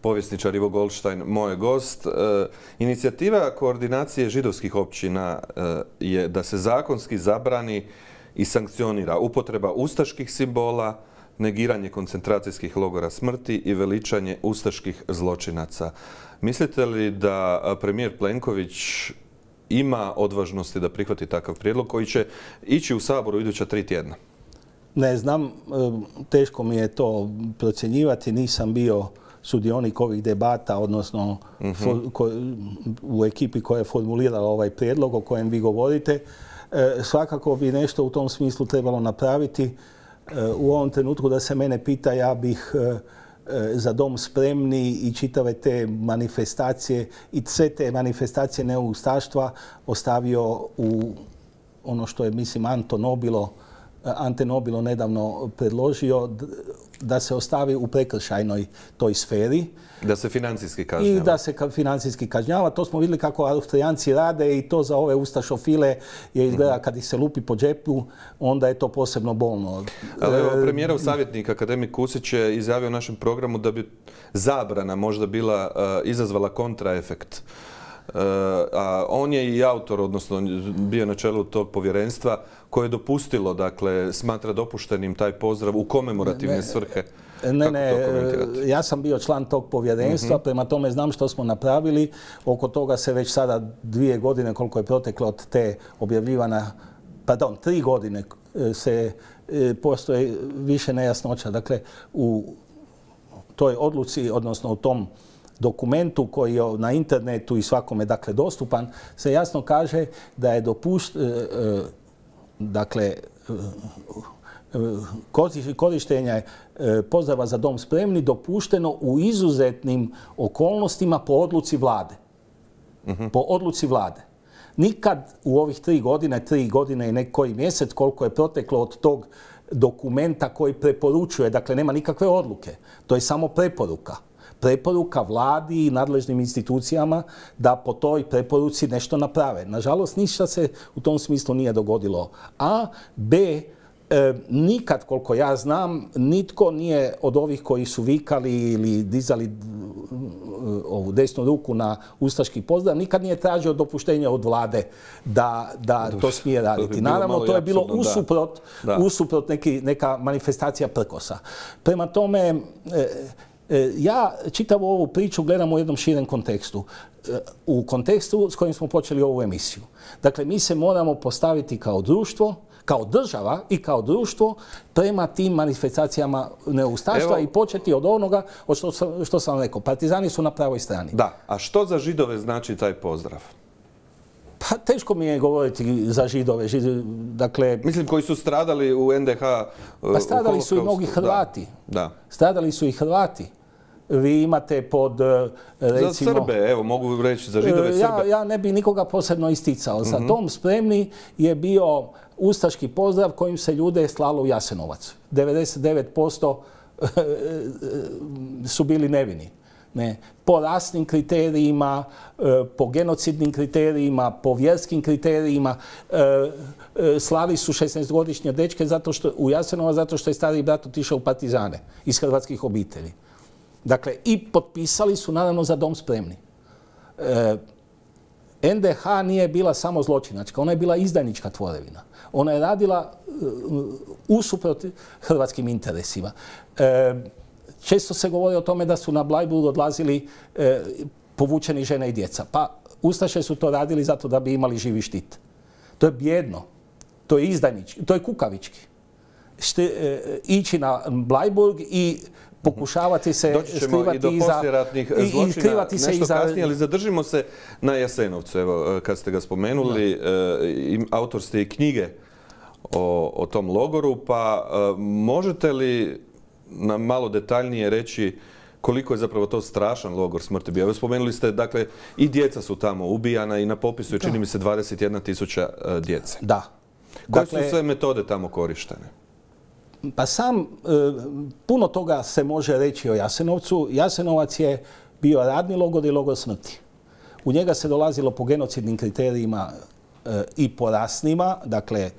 Povjesničar Ivo Goldstein, moj gost. E, inicijativa koordinacije židovskih općina e, je da se zakonski zabrani i sankcionira upotreba ustaških simbola, negiranje koncentracijskih logora smrti i veličanje ustaških zločinaca. Mislite li da premijer Plenković ima odvažnosti da prihvati takav prijedlog koji će ići u Saboru iduća tri tjedna? Ne znam, teško mi je to procjenjivati, nisam bio sudionik ovih debata, odnosno mm-hmm. ko, u ekipi koja je formulirala ovaj prijedlog o kojem vi govorite. E, svakako bi nešto u tom smislu trebalo napraviti. E, u ovom trenutku da se mene pita, ja bih e, Za dom spremni i čitave te manifestacije i sve te manifestacije neustaštva ostavio u ono što je, mislim, Anto Nobilo, Ante Nobilo nedavno predložio, da se ostavi u prekršajnoj toj sferi. Da se financijski kažnjava. I da se financijski kažnjava. To smo vidjeli kako Austrijanci rade i to za ove ustašofile je izgleda kad ih se lupi po džepu, onda je to posebno bolno. Ali evo, premijerov savjetnik, akademik Kusić, je izjavio u našem programu da bi zabrana možda bila uh, izazvala kontraefekt. Uh, a on je i autor, odnosno bio na čelu tog povjerenstva koje je dopustilo, dakle, smatra dopuštenim taj pozdrav u komemorativne svrhe. Ne, ne, ja sam bio član tog povjerenstva, prema tome znam što smo napravili. Oko toga se već sada dvije godine, koliko je proteklo od te objavljivana, pardon, tri godine se postoje više nejasnoća. Dakle, u toj odluci, odnosno u tom dokumentu koji je na internetu i svakome, dakle, dostupan, se jasno kaže da je dopušt, dakle, korištenje pozdrava za dom spremni dopušteno u izuzetnim okolnostima po odluci vlade. Po odluci vlade. Nikad u ovih tri godine, tri godine i nekoji mjesec koliko je proteklo od tog dokumenta koji preporučuje, dakle nema nikakve odluke, to je samo preporuka. Preporuka vladi i nadležnim institucijama da po toj preporuci nešto naprave. Nažalost, ništa se u tom smislu nije dogodilo. A, B, E, nikad, koliko ja znam, nitko nije od ovih koji su vikali ili dizali ovu desnu ruku na ustaški pozdrav, nikad nije tražio dopuštenje od vlade da, da to smije raditi. Naravno, to je bilo usuprot, usuprot neki, neka manifestacija prkosa. Prema tome, e, e, ja čitavu ovu priču gledam u jednom širem kontekstu. E, u kontekstu s kojim smo počeli ovu emisiju. Dakle, mi se moramo postaviti kao društvo, kao država i kao društvo prema tim manifestacijama neustaštva i početi od onoga od što sam, što sam rekao. Partizani su na pravoj strani. Da, a što za Židove znači taj pozdrav? Pa teško mi je govoriti za Židove. Židove, dakle, mislim, koji su stradali u en de ha. Pa stradali su i mnogi Hrvati. Da, da. Stradali su i Hrvati. Vi imate pod, recimo... Za Srbe, evo, mogu reći, za Židove Srbe. Ja, ja ne bi nikoga posebno isticao. Za dom spremni je bio ustaški pozdrav kojim se ljude slalo u Jasenovac. devedeset devet posto su bili nevini. Ne. Po rasnim kriterijima, po genocidnim kriterijima, po vjerskim kriterijima. Slali su šesnaestogodišnje dečke zato što, u Jasenovac zato što je stariji brat otišao u partizane iz hrvatskih obitelji. Dakle, i potpisali su naravno za dom spremni. E, en de ha nije bila samo zločinačka, ona je bila izdajnička tvorevina. Ona je radila uh, usuprot hrvatskim interesima. E, često se govori o tome da su na Bleiburg odlazili e, povučeni žene i djeca. Pa ustaše su to radili zato da bi imali živi štit. To je bjedno, to je izdajnički, to je kukavički. Šte, e, ići na Bleiburg i pokušavati se skrivati i do iza... posljeratnih zločina nešto iza... kasnije, ali zadržimo se na Jasenovcu. Evo, kad ste ga spomenuli, no. autor ste i knjige o, o tom logoru, pa možete li nam malo detaljnije reći koliko je zapravo to strašan logor smrti bio? Evo, spomenuli ste, dakle, i djeca su tamo ubijana i na popisu je, čini mi se, dvadeset jedna tisuća djece. Da. Koje dakle, su sve metode tamo korištene? Pa sam, e, puno toga se može reći o Jasenovcu. Jasenovac je bio radni logor i logor smrti. U njega se dolazilo po genocidnim kriterijima e, i po rasnima, dakle, e,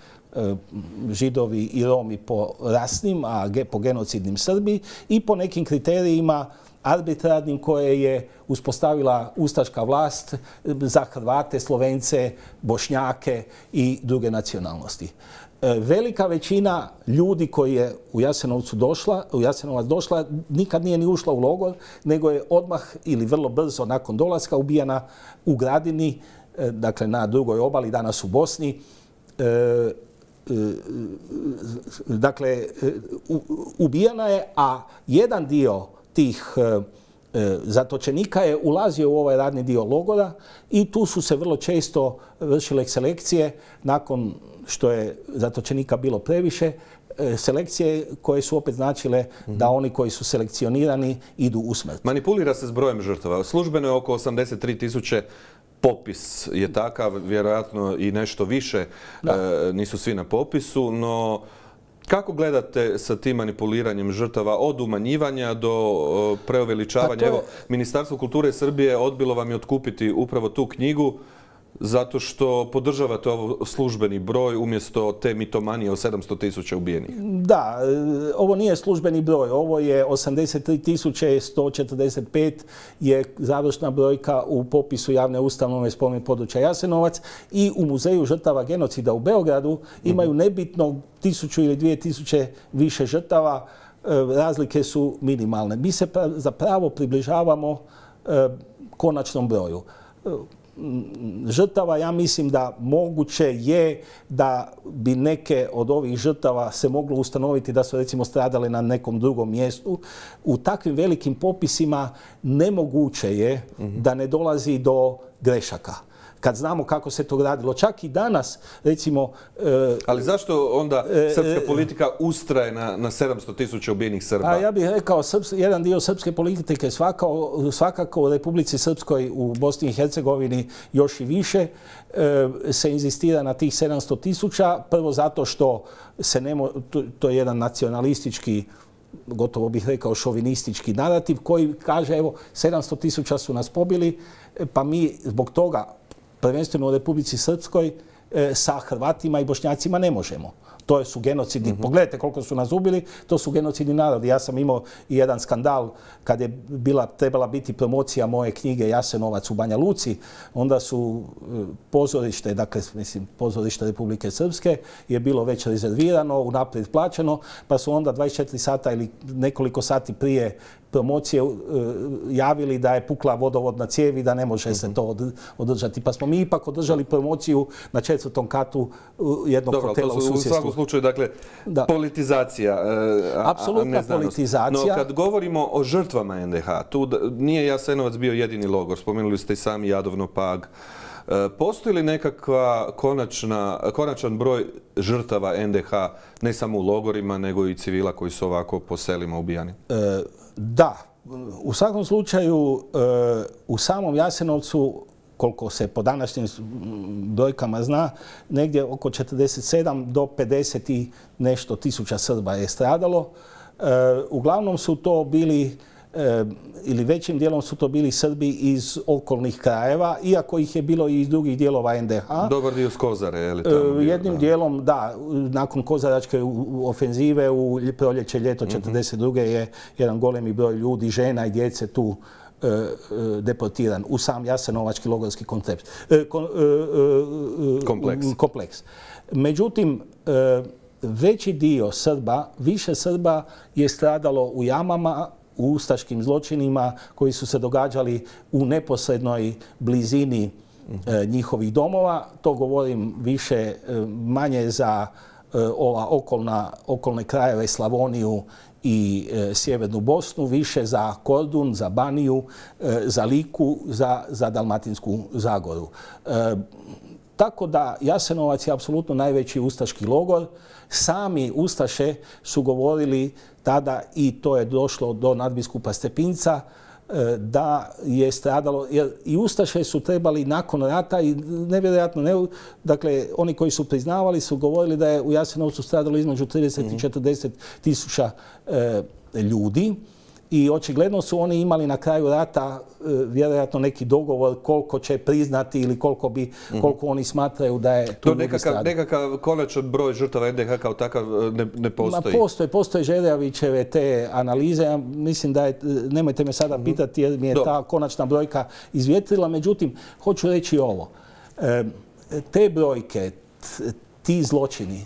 Židovi i Romi po rasnim, a ge, po genocidnim Srbi, i po nekim kriterijima arbitrarnim koje je uspostavila ustaška vlast za Hrvate, Slovence, Bošnjake i druge nacionalnosti. Velika većina ljudi koji je u Jasenovcu došla, u Jasenovac došla, nikad nije ni ušla u logor, nego je odmah ili vrlo brzo nakon dolaska ubijana u Gradini, dakle na drugoj obali, danas u Bosni. Dakle, ubijana je, a jedan dio tih zatočenika je ulazio u ovaj radni dio logora i tu su se vrlo često vršile selekcije nakon što je zatočenika bilo previše, selekcije koje su opet značile da oni koji su selekcionirani idu u smrt. Manipulira se s brojem žrtava. Službeno je oko osamdeset tri tisuće, popis je takav, vjerojatno i nešto više e, nisu svi na popisu, no kako gledate sa tim manipuliranjem žrtava od umanjivanja do o, preuveličavanja? Je... Evo, Ministarstvo kulture Srbije odbilo vam je otkupiti upravo tu knjigu zato što podržavate ovo službeni broj umjesto te mitomanije o sedamsto tisuća ubijenih. Da, ovo nije službeni broj. Ovo je osamdeset tri tisuće sto četrdeset pet je završna brojka u popisu javne ustanove spomen područja Jasenovac i u Muzeju žrtava genocida u Beogradu imaju nebitno tisuću ili dvije tisuće više žrtava. Razlike su minimalne. Mi se zapravo približavamo konačnom broju žrtava. Ja mislim da moguće je da bi neke od ovih žrtava se moglo ustanoviti da su recimo stradale na nekom drugom mjestu. U takvim velikim popisima nemoguće je da ne dolazi do grešaka. Kad znamo kako se to radilo. Čak i danas, recimo... E, Ali zašto onda srpska politika ustraje na, na sedamsto tisuća ubijenih Srba? A ja bih rekao, srps, jedan dio srpske politike svakako, svakako u Republici Srpskoj, u Bosni i Hercegovini još i više, e, se inzistira na tih sedamsto tisuća. Prvo zato što se nemo, to, to je jedan nacionalistički, gotovo bih rekao šovinistički narativ koji kaže, evo, sedamsto tisuća su nas pobili, pa mi zbog toga prvenstveno u Republici Srpskoj, e, sa Hrvatima i Bošnjacima ne možemo. To su genocidni. Mm-hmm. Pogledajte koliko su nas ubili, to su genocidni narodi. Ja sam imao i jedan skandal kad je bila, trebala biti promocija moje knjige Jasenovac u Banja Luci. Onda su pozorište, dakle, mislim, pozorište Republike Srpske je bilo već rezervirano, unaprijed plaćeno, pa su onda dvadeset četiri sata ili nekoliko sati prije promocije uh, javili da je pukla vodovodna cijev i da ne može se to održati. Pa smo mi ipak održali promociju na četvrtom katu jednog Dobro, hotela u susjedstvu. U svakom slučaju, dakle, da. politizacija, a, Apsolutna a ne politizacija. No, kad govorimo o žrtvama en de ha, tu nije Jasenovac bio jedini logor. Spomenuli ste i sami Jadovno, Pag. Postoji li nekakva konačna, konačan broj žrtava en de ha, ne samo u logorima, nego i civila koji su ovako po selima ubijani? E, da. U svakom slučaju, e, u samom Jasenovcu, koliko se po današnjim brojkama zna, negdje oko četrdeset sedam do pedeset i nešto tisuća Srba je stradalo. E, uglavnom su to bili, e, ili većim dijelom su to bili Srbi iz okolnih krajeva, iako ih je bilo i iz drugih dijelova en de ha. Dobar dio s Kozare, je li tamo bio? Jednim da. dijelom, da. Nakon kozaračke ofenzive u proljeće, ljeto četrdeset druge je jedan golemi broj ljudi, žena i djece tu deportiran u sam jasenovački logorski koncept, kompleks. kompleks. Međutim, veći dio Srba, više Srba je stradalo u jamama, u ustaškim zločinima koji su se događali u neposrednoj blizini njihovih domova. To govorim više manje za ova okolna, okolne krajeve, Slavoniju i e, Sjevernu Bosnu, više za Kordun, za Baniju, e, za Liku, za, za Dalmatinsku Zagoru. E, tako da Jasenovac je apsolutno najveći ustaški logor. Sami ustaše su govorili tada, i to je došlo do nadbiskupa Stepinca, da je stradalo, jer i ustaše su trebali nakon rata, i nevjerojatno, ne, dakle, oni koji su priznavali su govorili da je u Jasenovcu stradalo između trideset i četrdeset tisuća e, ljudi. I očigledno su oni imali na kraju rata e, vjerojatno neki dogovor koliko će priznati ili koliko, bi, koliko oni smatraju da je tu ljudi stradalo. Nekakav konačan broj žrtava en de ha kao takav ne, ne postoji? Ma postoje, postoje Žerjavićeve te analize. Ja mislim da je, nemojte me sada pitati jer mi je ta konačna brojka izvjetrila. Međutim, hoću reći ovo. E, te brojke, ti zločini,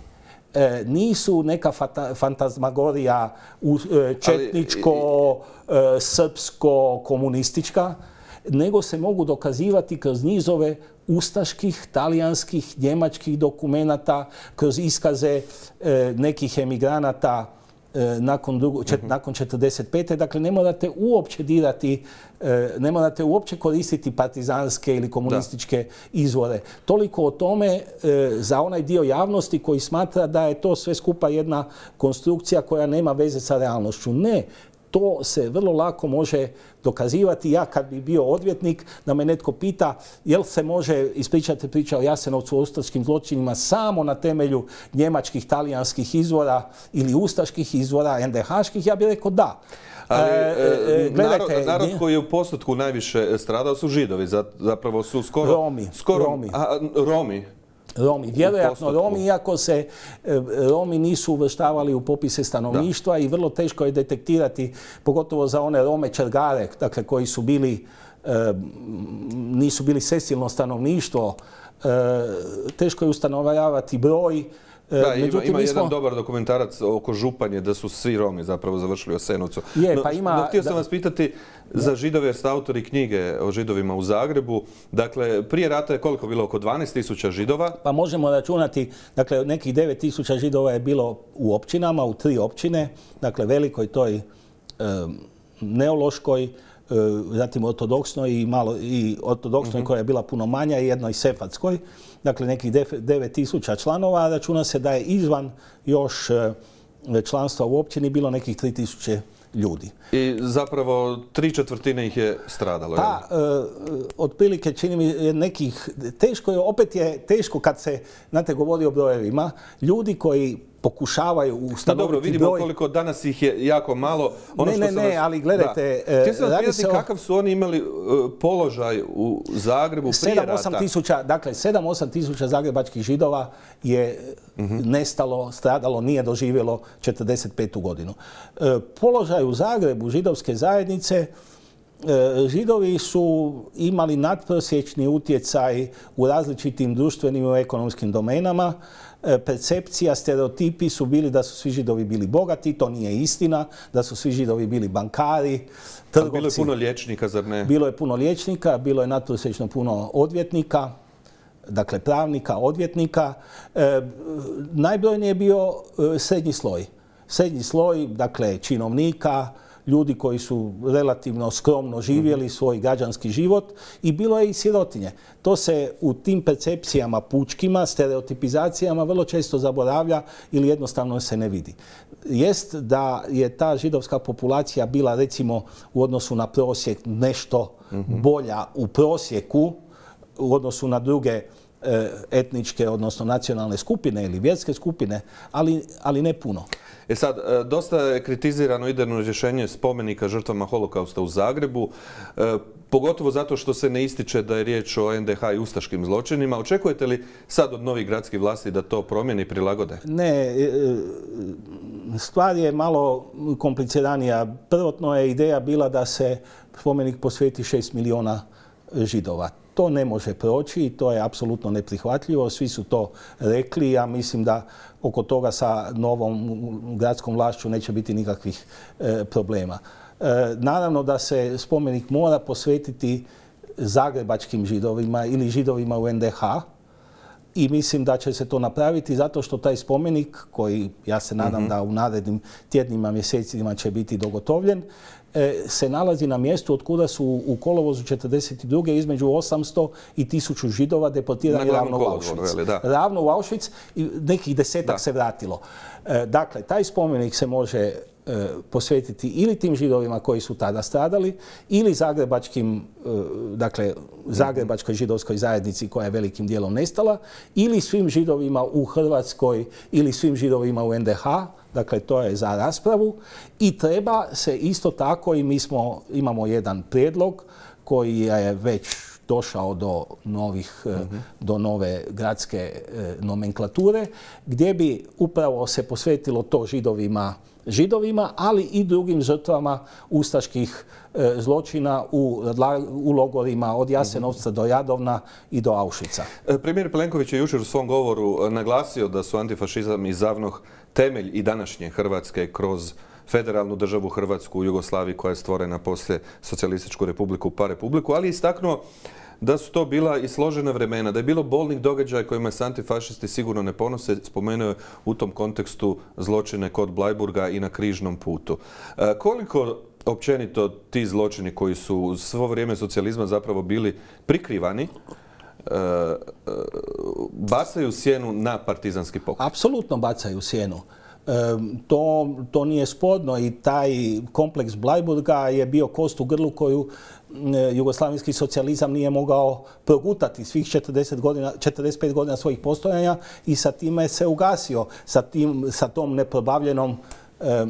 E, nisu neka fata, fantazmagorija u, e, četničko, e, srpsko, komunistička, nego se mogu dokazivati kroz nizove ustaških, talijanskih, njemačkih dokumenata, kroz iskaze e, nekih emigranata nakon, drugo, čet, nakon četrdeset pete. Dakle, ne morate uopće dirati, ne morate uopće koristiti partizanske ili komunističke da. izvore. Toliko o tome za onaj dio javnosti koji smatra da je to sve skupa jedna konstrukcija koja nema veze sa realnošću. Ne. To se vrlo lako može dokazivati. Ja kad bi bio odvjetnik, da me netko pita jel se može ispričati priča o Jasenovcu, o ustaškim zločinima samo na temelju njemačkih, talijanskih izvora ili ustaških izvora, en de haških, ja bih rekao da. Ali e, gledajte, narod, narod koji je u postotku najviše stradao su Židovi, zapravo su skoro... Romi. Skoro, Romi. A, Romi. Romi, vjerojatno Romi, iako se Romi nisu uvrštavali u popise stanovništva da. i vrlo teško je detektirati, pogotovo za one Rome Čergare, dakle koji su bili, e, nisu bili sesilno stanovništvo, e, teško je ustanovljavati broj. Da, Međutim, ima, ima jedan smo... dobar dokumentarac oko Županje, da su svi Romi zapravo završili u Jasenovcu. Je, no, pa ima, no, htio sam da, vas pitati za Židove, jer ste autori knjige o Židovima u Zagrebu. Dakle, prije rata je koliko bilo? Oko dvanaest tisuća Židova? Pa možemo računati, dakle, nekih devet tisuća Židova je bilo u općinama, u tri općine, dakle, Velikoj, toj e, Neološkoj, zatim ortodoksnoj i malo i ortodoksnoj mm-hmm. koja je bila puno manja i jednoj sefardskoj, dakle nekih devet tisuća članova, računa se da je izvan još članstva u općini bilo nekih tri tisuće ljudi. I zapravo tri četvrtine ih je stradalo. Pa, e, otprilike čini mi nekih, teško je, opet je teško kad se, znate, govori o brojevima, ljudi koji pokušavaju ustanoviti broj... Dobro, vidimo broj... koliko danas ih je jako malo. Ono ne, ne, ne, vas... ali gledajte... Htio sam vas pitati o... kakav su oni imali uh, položaj u Zagrebu prije rata. sedam osam tisuća, dakle, sedam osam tisuća zagrebačkih Židova je uh-huh. nestalo, stradalo, nije doživjelo četrdeset petu godinu. Uh, položaj u Zagrebu židovske zajednice, Židovi su imali nadprosječni utjecaj u različitim društvenim i ekonomskim domenama. Percepcija, stereotipi su bili da su svi Židovi bili bogati, to nije istina, da su svi Židovi bili bankari, trgovci. Bilo je puno liječnika, zar ne? Bilo je puno liječnika, bilo je nadprosječno puno odvjetnika, dakle pravnika, odvjetnika. E, najbrojniji je bio srednji sloj. Srednji sloj, dakle činovnika, ljudi koji su relativno skromno živjeli svoj građanski život i bilo je i sirotinje. To se u tim percepcijama pučkima, stereotipizacijama vrlo često zaboravlja ili jednostavno se ne vidi. Jest da je ta židovska populacija bila recimo u odnosu na prosjek nešto bolja u prosjeku u odnosu na druge etničke, odnosno nacionalne skupine ili vjerske skupine, ali, ali ne puno. E sad, dosta je kritizirano idejno rješenje spomenika žrtvama holokausta u Zagrebu, e, pogotovo zato što se ne ističe da je riječ o en de ha i ustaškim zločinima. Očekujete li sad od novih gradskih vlasti da to promijeni i prilagode? Ne, stvar je malo kompliciranija. Prvotno je ideja bila da se spomenik posveti šest milijuna Židova. To ne može proći i to je apsolutno neprihvatljivo. Svi su to rekli. Ja mislim da oko toga sa novom gradskom vlašću neće biti nikakvih e, problema. E, naravno da se spomenik mora posvetiti zagrebačkim Židovima ili Židovima u en de ha i mislim da će se to napraviti zato što taj spomenik, koji ja se nadam mm-hmm. da u narednim tjednima, mjesecima će biti dogotovljen, se nalazi na mjestu od kuda su u kolovozu četrdeset druge između osamsto i tisuću Židova deportirani ravno u Auschwitz. Da. Ravno u Auschwitz i nekih desetak da. se vratilo. Dakle, taj spomenik se može posvetiti ili tim Židovima koji su tada stradali ili zagrebačkim, dakle, zagrebačkoj židovskoj zajednici koja je velikim dijelom nestala ili svim Židovima u Hrvatskoj ili svim Židovima u en de ha. Dakle, to je za raspravu i treba se isto tako, i mi smo, imamo jedan prijedlog koji je već došao do, novih, mm-hmm. do nove gradske e, nomenklature, gdje bi upravo se posvetilo to židovima, židovima, ali i drugim žrtvama ustaških e, zločina u, u logorima od Jasenovca mm-hmm. do Jadovna i do Auschwitza. Premijer Plenković je jučer u svom govoru naglasio da su antifašizam i ZAVNOH temelj i današnje Hrvatske kroz federalnu državu Hrvatsku u Jugoslaviji koja je stvorena poslije Socijalističku republiku pa republiku, ali istaknuo da su to bila i složena vremena, da je bilo bolnih događaja kojima se antifašisti sigurno ne ponose. Spomenuo je u tom kontekstu zločine kod Bleiburga i na Križnom putu. E, koliko općenito ti zločini koji su svo vrijeme socijalizma zapravo bili prikrivani, e, e, bacaju sjenu na partizanski pokret? Apsolutno bacaju sjenu. E, to, to nije sporno i taj kompleks Bleiburga je bio kost u grlu koju e, jugoslavenski socijalizam nije mogao progutati svih četrdeset godina, četrdeset pet godina svojih postojanja i sa time se ugasio, sa, tim, sa tom neprobavljenom e,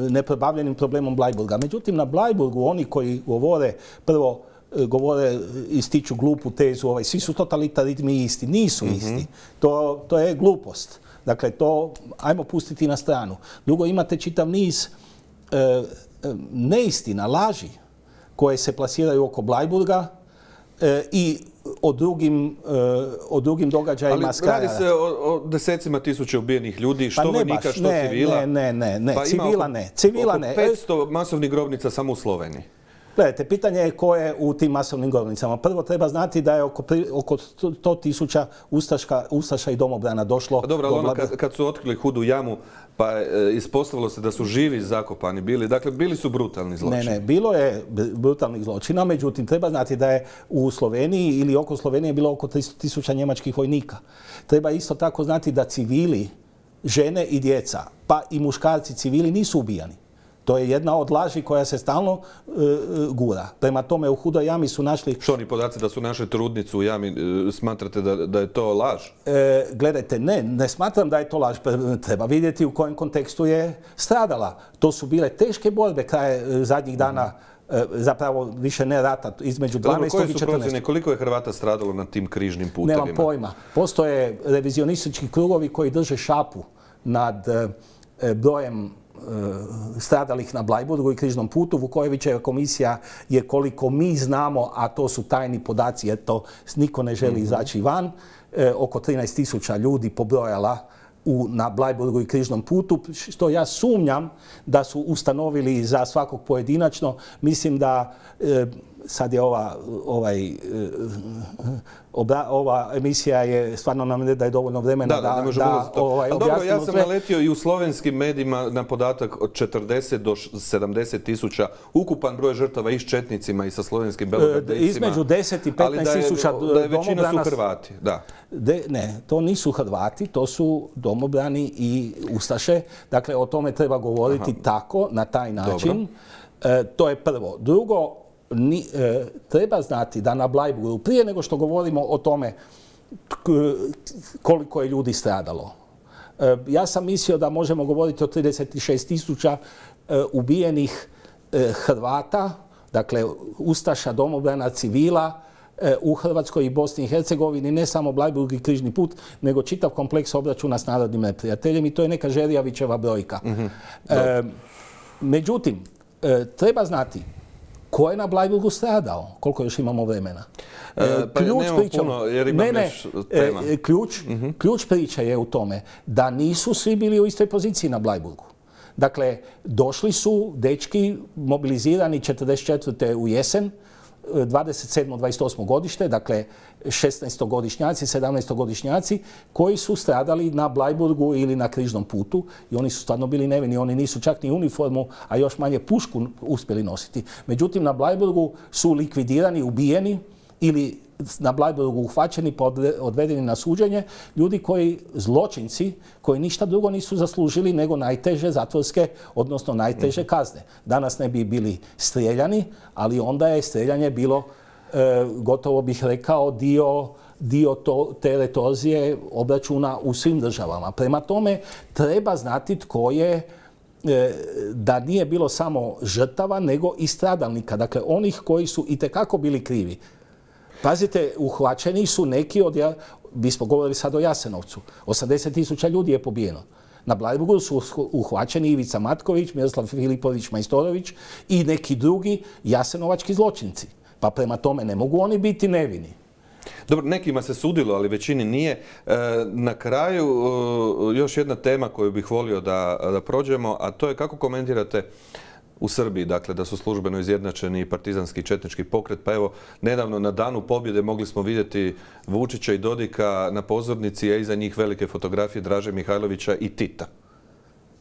neprobavljenim problemom Bleiburga. Međutim, na Bleiburgu oni koji govore, prvo govore, ističu glupu tezu, ovaj, svi su totalitarizmi isti. Nisu mm-hmm. isti. To, to je glupost. Dakle, to ajmo pustiti na stranu. Drugo, imate čitav niz e, neistina, laži koje se plasiraju oko Bleiburga e, i o drugim, e, o drugim događajima. Ali radi se o, o desecima tisuća ubijenih ljudi, što pa vojnika, što ne, civila. Ne, ne, ne, ne. Pa civila oko, ne. Civila oko ne. petsto masovnih grobnica samo u Sloveniji. Gledajte, pitanje je ko je u tim masovnim grobnicama. Prvo treba znati da je oko, oko sto tisuća ustaša i domobrana došlo. A dobro, ali ono kad, kad su otkrili Hudu jamu, pa e, ispostavilo se da su živi zakopani bili. Dakle, bili su brutalni zločini. Ne, ne, bilo je brutalnih zločina, međutim, treba znati da je u Sloveniji ili oko Slovenije bilo oko tristo tisuća njemačkih vojnika. Treba isto tako znati da civili, žene i djeca, pa i muškarci civili nisu ubijani. To je jedna od laži koja se stalno uh, gura. Prema tome, u Hudoj jami su našli... Što oni podaci da su našli trudnicu u jami, uh, smatrate da, da je to laž? E, gledajte, ne, ne smatram da je to laž. Treba vidjeti u kojem kontekstu je stradala. To su bile teške borbe kraje zadnjih dana, uh, zapravo više ne rata, između dvanaestog i četrnaestog. Koje su procjene, koliko je Hrvata stradalo na tim križnim putevima? Nemam pojma. Postoje revizionistički krugovi koji drže šapu nad uh, brojem stradalih na Bleiburgu i Križnom putu. Vukojevićeva komisija je, koliko mi znamo, a to su tajni podaci jer to niko ne želi izaći van, e, oko trinaest tisuća ljudi pobrojala u, na Bleiburgu i Križnom putu, što ja sumnjam da su ustanovili za svakog pojedinačno. Mislim da e, sad je ova, ovaj, e, obra, ova emisija je stvarno nam ne daje dovoljno vremena da, da, da, da ovaj, dobro, ja sam sve. naletio i u slovenskim medijima na podatak od četrdeset do sedamdeset tisuća ukupan broj žrtava i s četnicima i sa slovenskim belogardejcima. Između deset i petnaest tisuća domobrana. Da je većina su Hrvati, da. De, ne, to nisu Hrvati, to su domobrani i ustaše. Dakle, o tome treba govoriti Aha. tako, na taj način. E, to je prvo. Drugo, Ni, e, treba znati da na Bleiburgu, prije nego što govorimo o tome koliko je ljudi stradalo, e, ja sam mislio da možemo govoriti o trideset šest tisuća e, ubijenih e, Hrvata, dakle ustaša, domobrana, civila e, u Hrvatskoj i Bosni i Hercegovini, ne samo Bleiburg i Križni put, nego čitav kompleks obračuna s narodnim neprijateljem i to je neka Žerjavićeva brojka. Mm-hmm. e, međutim, e, treba znati ko je na Bleiburgu stradao? Koliko još imamo vremena? E, pa ključ priča, puno, jer imam ne, ne, tema. E, ključ, mm-hmm. ključ priče je u tome da nisu svi bili u istoj poziciji na Bleiburgu. Dakle, došli su dečki mobilizirani četrdeset četvrte u jesen, dvadeset sedmo dvadeset osmo godište, dakle šesnaestogodišnjaci, sedamnaestogodišnjaci koji su stradali na Bleiburgu ili na Križnom putu i oni su stvarno bili nevini, oni nisu čak ni uniformu, a još manje pušku uspjeli nositi. Međutim, na Bleiburgu su likvidirani, ubijeni ili na Bleiburgu uhvaćeni pa odvedeni na suđenje ljudi koji, zločinci, koji ništa drugo nisu zaslužili nego najteže zatvorske, odnosno najteže kazne. Danas ne bi bili strijeljani, ali onda je strijeljanje bilo, e, gotovo bih rekao, dio, dio to, te retorzije obračuna u svim državama. Prema tome, treba znati tko je, e, da nije bilo samo žrtava, nego i stradalnika. Dakle, onih koji su itekako bili krivi. Pazite, uhvaćeni su neki od, mi smo govorili sad o Jasenovcu, osamdeset tisuća ljudi je pobijeno. Na Bleiburgu su uhvaćeni Ivica Matković, Miroslav Filipović Majstorović i neki drugi jasenovački zločinci. Pa prema tome ne mogu oni biti nevini. Dobro, nekima se sudilo, ali većini nije. Na kraju još jedna tema koju bih volio da, da prođemo, a to je kako komentirate u Srbiji, dakle da su službeno izjednačeni partizanski i četnički pokret. Pa evo, nedavno na Danu pobjede mogli smo vidjeti Vučića i Dodika na pozornici, a iza njih velike fotografije Draže Mihajlovića i Tita.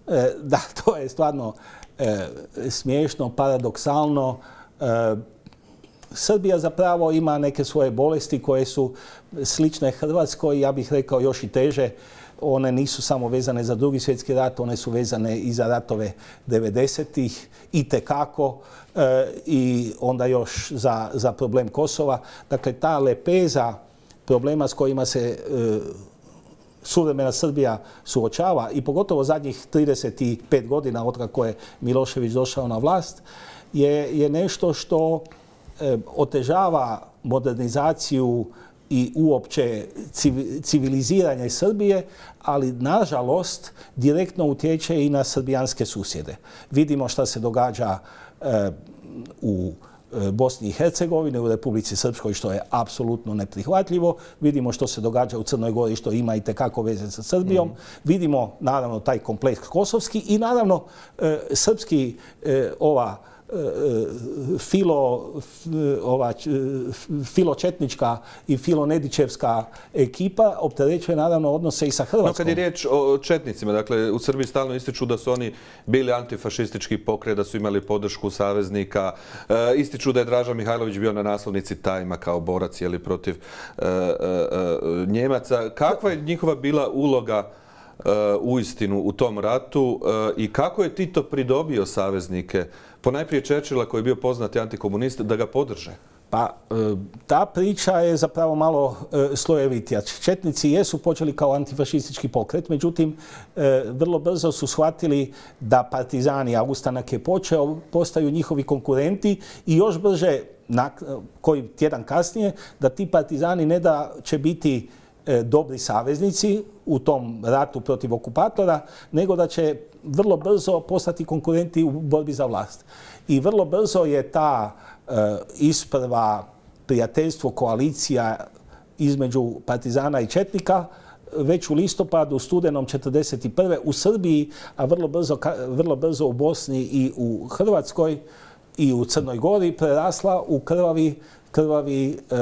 E, da, to je stvarno e, smiješno, paradoksalno. E, Srbija zapravo ima neke svoje bolesti koje su slične Hrvatskoj, ja bih rekao još i teže. One nisu samo vezane za Drugi svjetski rat, one su vezane i za ratove devedesetih itekako e, i onda još za, za problem Kosova. Dakle, ta lepeza problema s kojima se e, suvremena Srbija suočava i pogotovo zadnjih trideset pet godina od kako je Milošević došao na vlast je, je nešto što e, otežava modernizaciju i uopće civiliziranje Srbije, ali nažalost direktno utječe i na srbijanske susjede. Vidimo šta se događa e, u Bosni i Hercegovini, u Republici Srpskoj, što je apsolutno neprihvatljivo. Vidimo što se događa u Crnoj Gori, što ima i tekako veze sa Srbijom. Mm. Vidimo naravno taj kompleks kosovski i naravno e, srpski e, ova filo, ova, filočetnička i filonedićevska ekipa opterećuje naravno odnose i sa Hrvatskom. No, kad je riječ o četnicima, dakle, u Srbiji stalno ističu da su oni bili antifašistički pokret, da su imali podršku saveznika, e, ističu da je Draža Mihajlović bio na naslovnici Tajma kao borac jeli, protiv e, e, e, Njemaca. Kakva je njihova bila uloga u istinu u tom ratu i kako je Tito pridobio saveznike, ponajprije Churchilla koji je bio poznati antikomunist, da ga podrže? Pa ta priča je zapravo malo slojevitija. Četnici jesu počeli kao antifašistički pokret, međutim vrlo brzo su shvatili da partizani, a ustanak je počeo, postaju njihovi konkurenti i još brže, koji tjedan kasnije, da ti partizani ne da će biti dobri saveznici u tom ratu protiv okupatora, nego da će vrlo brzo postati konkurenti u borbi za vlast. I vrlo brzo je ta e, isprva prijateljstvo, koalicija između partizana i četnika već u listopadu, u studenom četrdeset prve u Srbiji, a vrlo brzo, vrlo brzo u Bosni i u Hrvatskoj i u Crnoj Gori prerasla u krvavi krvavi e,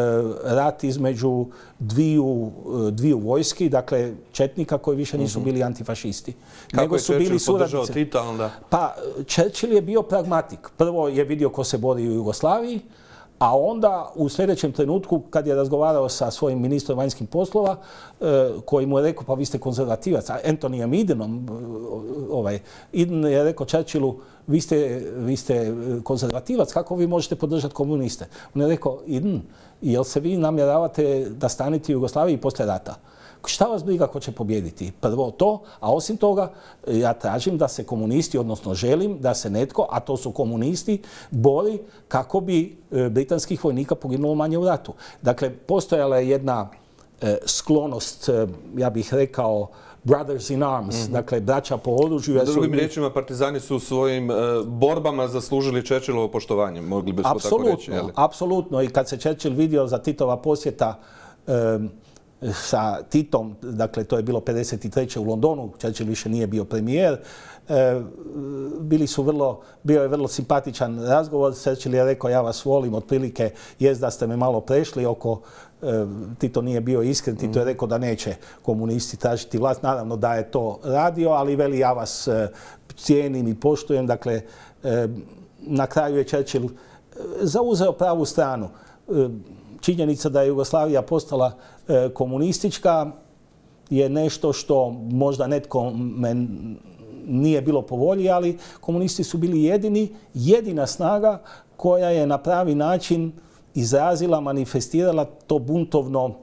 rat između dviju, dviju vojski, dakle četnika koji više nisu bili antifašisti. Kako nego je su bili podržao Tita onda? Pa Churchill je bio pragmatik. Prvo je vidio ko se bori u Jugoslaviji, a onda u sljedećem trenutku kad je razgovarao sa svojim ministrom vanjskih poslova, e, koji mu je rekao pa vi ste konzervativac, a Anthonyjem Idenom, ovaj, Eden je rekao Churchillu vi ste, vi ste konzervativac, kako vi možete podržati komuniste? On je rekao, Eden, jel se vi namjeravate da stanete u Jugoslaviji poslije rata? Šta vas briga ko će pobijediti? Prvo to, a osim toga ja tražim da se komunisti, odnosno želim da se netko, a to su komunisti, bori kako bi britanskih vojnika poginulo manje u ratu. Dakle, postojala je jedna e, sklonost, e, ja bih rekao, brothers in arms, mm-hmm. dakle, braća po oružju. Drugim riječima, partizani su u svojim e, borbama zaslužili Churchillovo poštovanje, mogli bismo apsolutno, tako reći. Apsolutno, apsolutno. I kad se Churchill vidio za Titova posjeta e, sa Titom, dakle to je bilo pedeset treće u Londonu, Churchill više nije bio premijer, e, bili su vrlo, bio je vrlo simpatičan razgovor, Churchill je rekao ja vas volim, otprilike jest da ste me malo prešli oko, e, Tito nije bio iskren, Tito je rekao da neće komunisti tražiti vlast, naravno da je to radio, ali veli ja vas e, cijenim i poštujem, dakle e, na kraju je Churchill zauzeo pravu stranu. E, činjenica da je Jugoslavija postala e, komunistička je nešto što možda netko nije bilo po volji, ali komunisti su bili jedini, jedina snaga koja je na pravi način izrazila, manifestirala to buntovno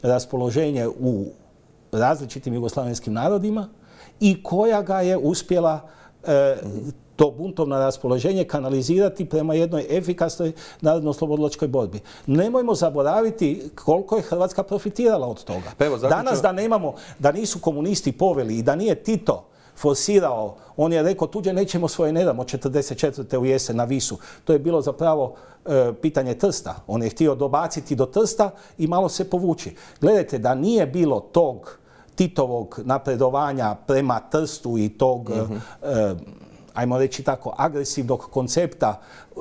raspoloženje u različitim jugoslavenskim narodima i koja ga je uspjela e, to buntovno raspoloženje kanalizirati prema jednoj efikasnoj narodno-oslobodilačkoj borbi. Nemojmo zaboraviti koliko je Hrvatska profitirala od toga. Pa evo, zaključno... Danas da nemamo, da nisu komunisti poveli i da nije Tito forsirao, on je rekao tuđe nećemo svoje ne damo četrdeset četvrte u jesen na Visu. To je bilo zapravo e, pitanje Trsta. On je htio dobaciti do Trsta i malo se povući. Gledajte, da nije bilo tog Titovog napredovanja prema Trstu i tog mm-hmm. e, ajmo reći tako, agresivnog koncepta e,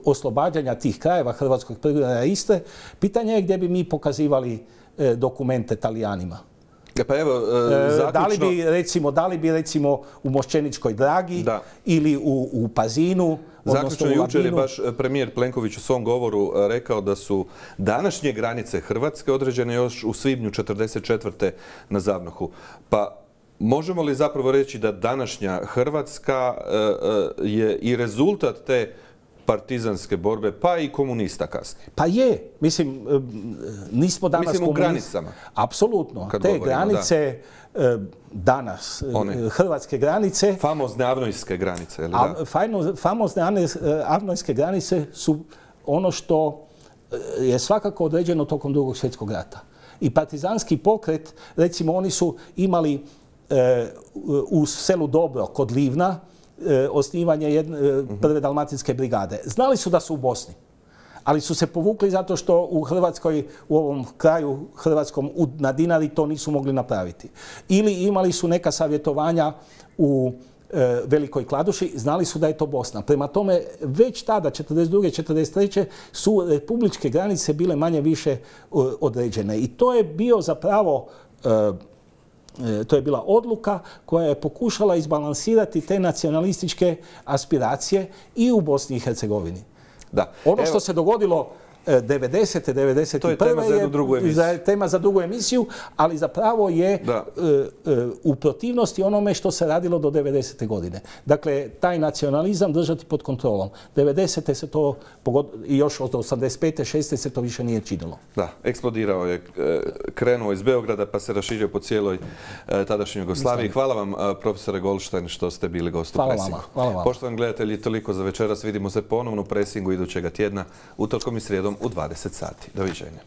oslobađanja tih krajeva hrvatskog predgrađa Istre, pitanje je gdje bi mi pokazivali e, dokumente Talijanima. Pa evo, e, zaključno... Da li bi, recimo, da li bi recimo u Mošćeničkoj Dragi da. ili u, u Pazinu, zaključno, jučer je baš premijer Plenković u svom govoru rekao da su današnje granice Hrvatske određene još u svibnju četrdeset četvrte na Zavnohu. Pa možemo li zapravo reći da današnja Hrvatska je i rezultat te partizanske borbe, pa i komunista kasnije? Pa je. Mislim, nismo danas Mislim u granicama. Apsolutno. Te govorimo, granice da. danas, One. hrvatske granice... Famozne avnojske granice, ili da? Famozne avnojske granice su ono što je svakako određeno tokom Drugog svjetskog rata. I partizanski pokret, recimo, oni su imali e, u selu Dobro kod Livna e, osnivanje jedne, e, prve dalmatinske brigade. Znali su da su u Bosni, ali su se povukli zato što u Hrvatskoj, u ovom kraju hrvatskom na Dinari to nisu mogli napraviti. Ili imali su neka savjetovanja u e, Velikoj Kladuši, znali su da je to Bosna. Prema tome, već tada, četrdeset druge četrdeset treće su republičke granice bile manje više e, određene. I to je bio zapravo... E, To je bila odluka koja je pokušala izbalansirati te nacionalističke aspiracije i u Bosni i Hercegovini. Da. Ono Evo. što se dogodilo devedesete, devedeset prve. To je tema za jednu drugu emisiju. Je tema za drugu emisiju, ali zapravo je da. u protivnosti onome što se radilo do devedesete godine. Dakle, taj nacionalizam držati pod kontrolom. devedesete se to, i još od osamdeset pete šeste se to više nije činilo. Da, eksplodirao je, krenuo iz Beograda pa se raširio po cijeloj tadašnjoj Jugoslaviji. Hvala vam, profesore Goldstein, što ste bili gost u Presingu. Hvala vama. Poštovani gledatelji, toliko za večeras. Vidimo se ponovno u Presingu idućega tjedna, utorkom i srijedom u dvadeset sati. Doviđenja.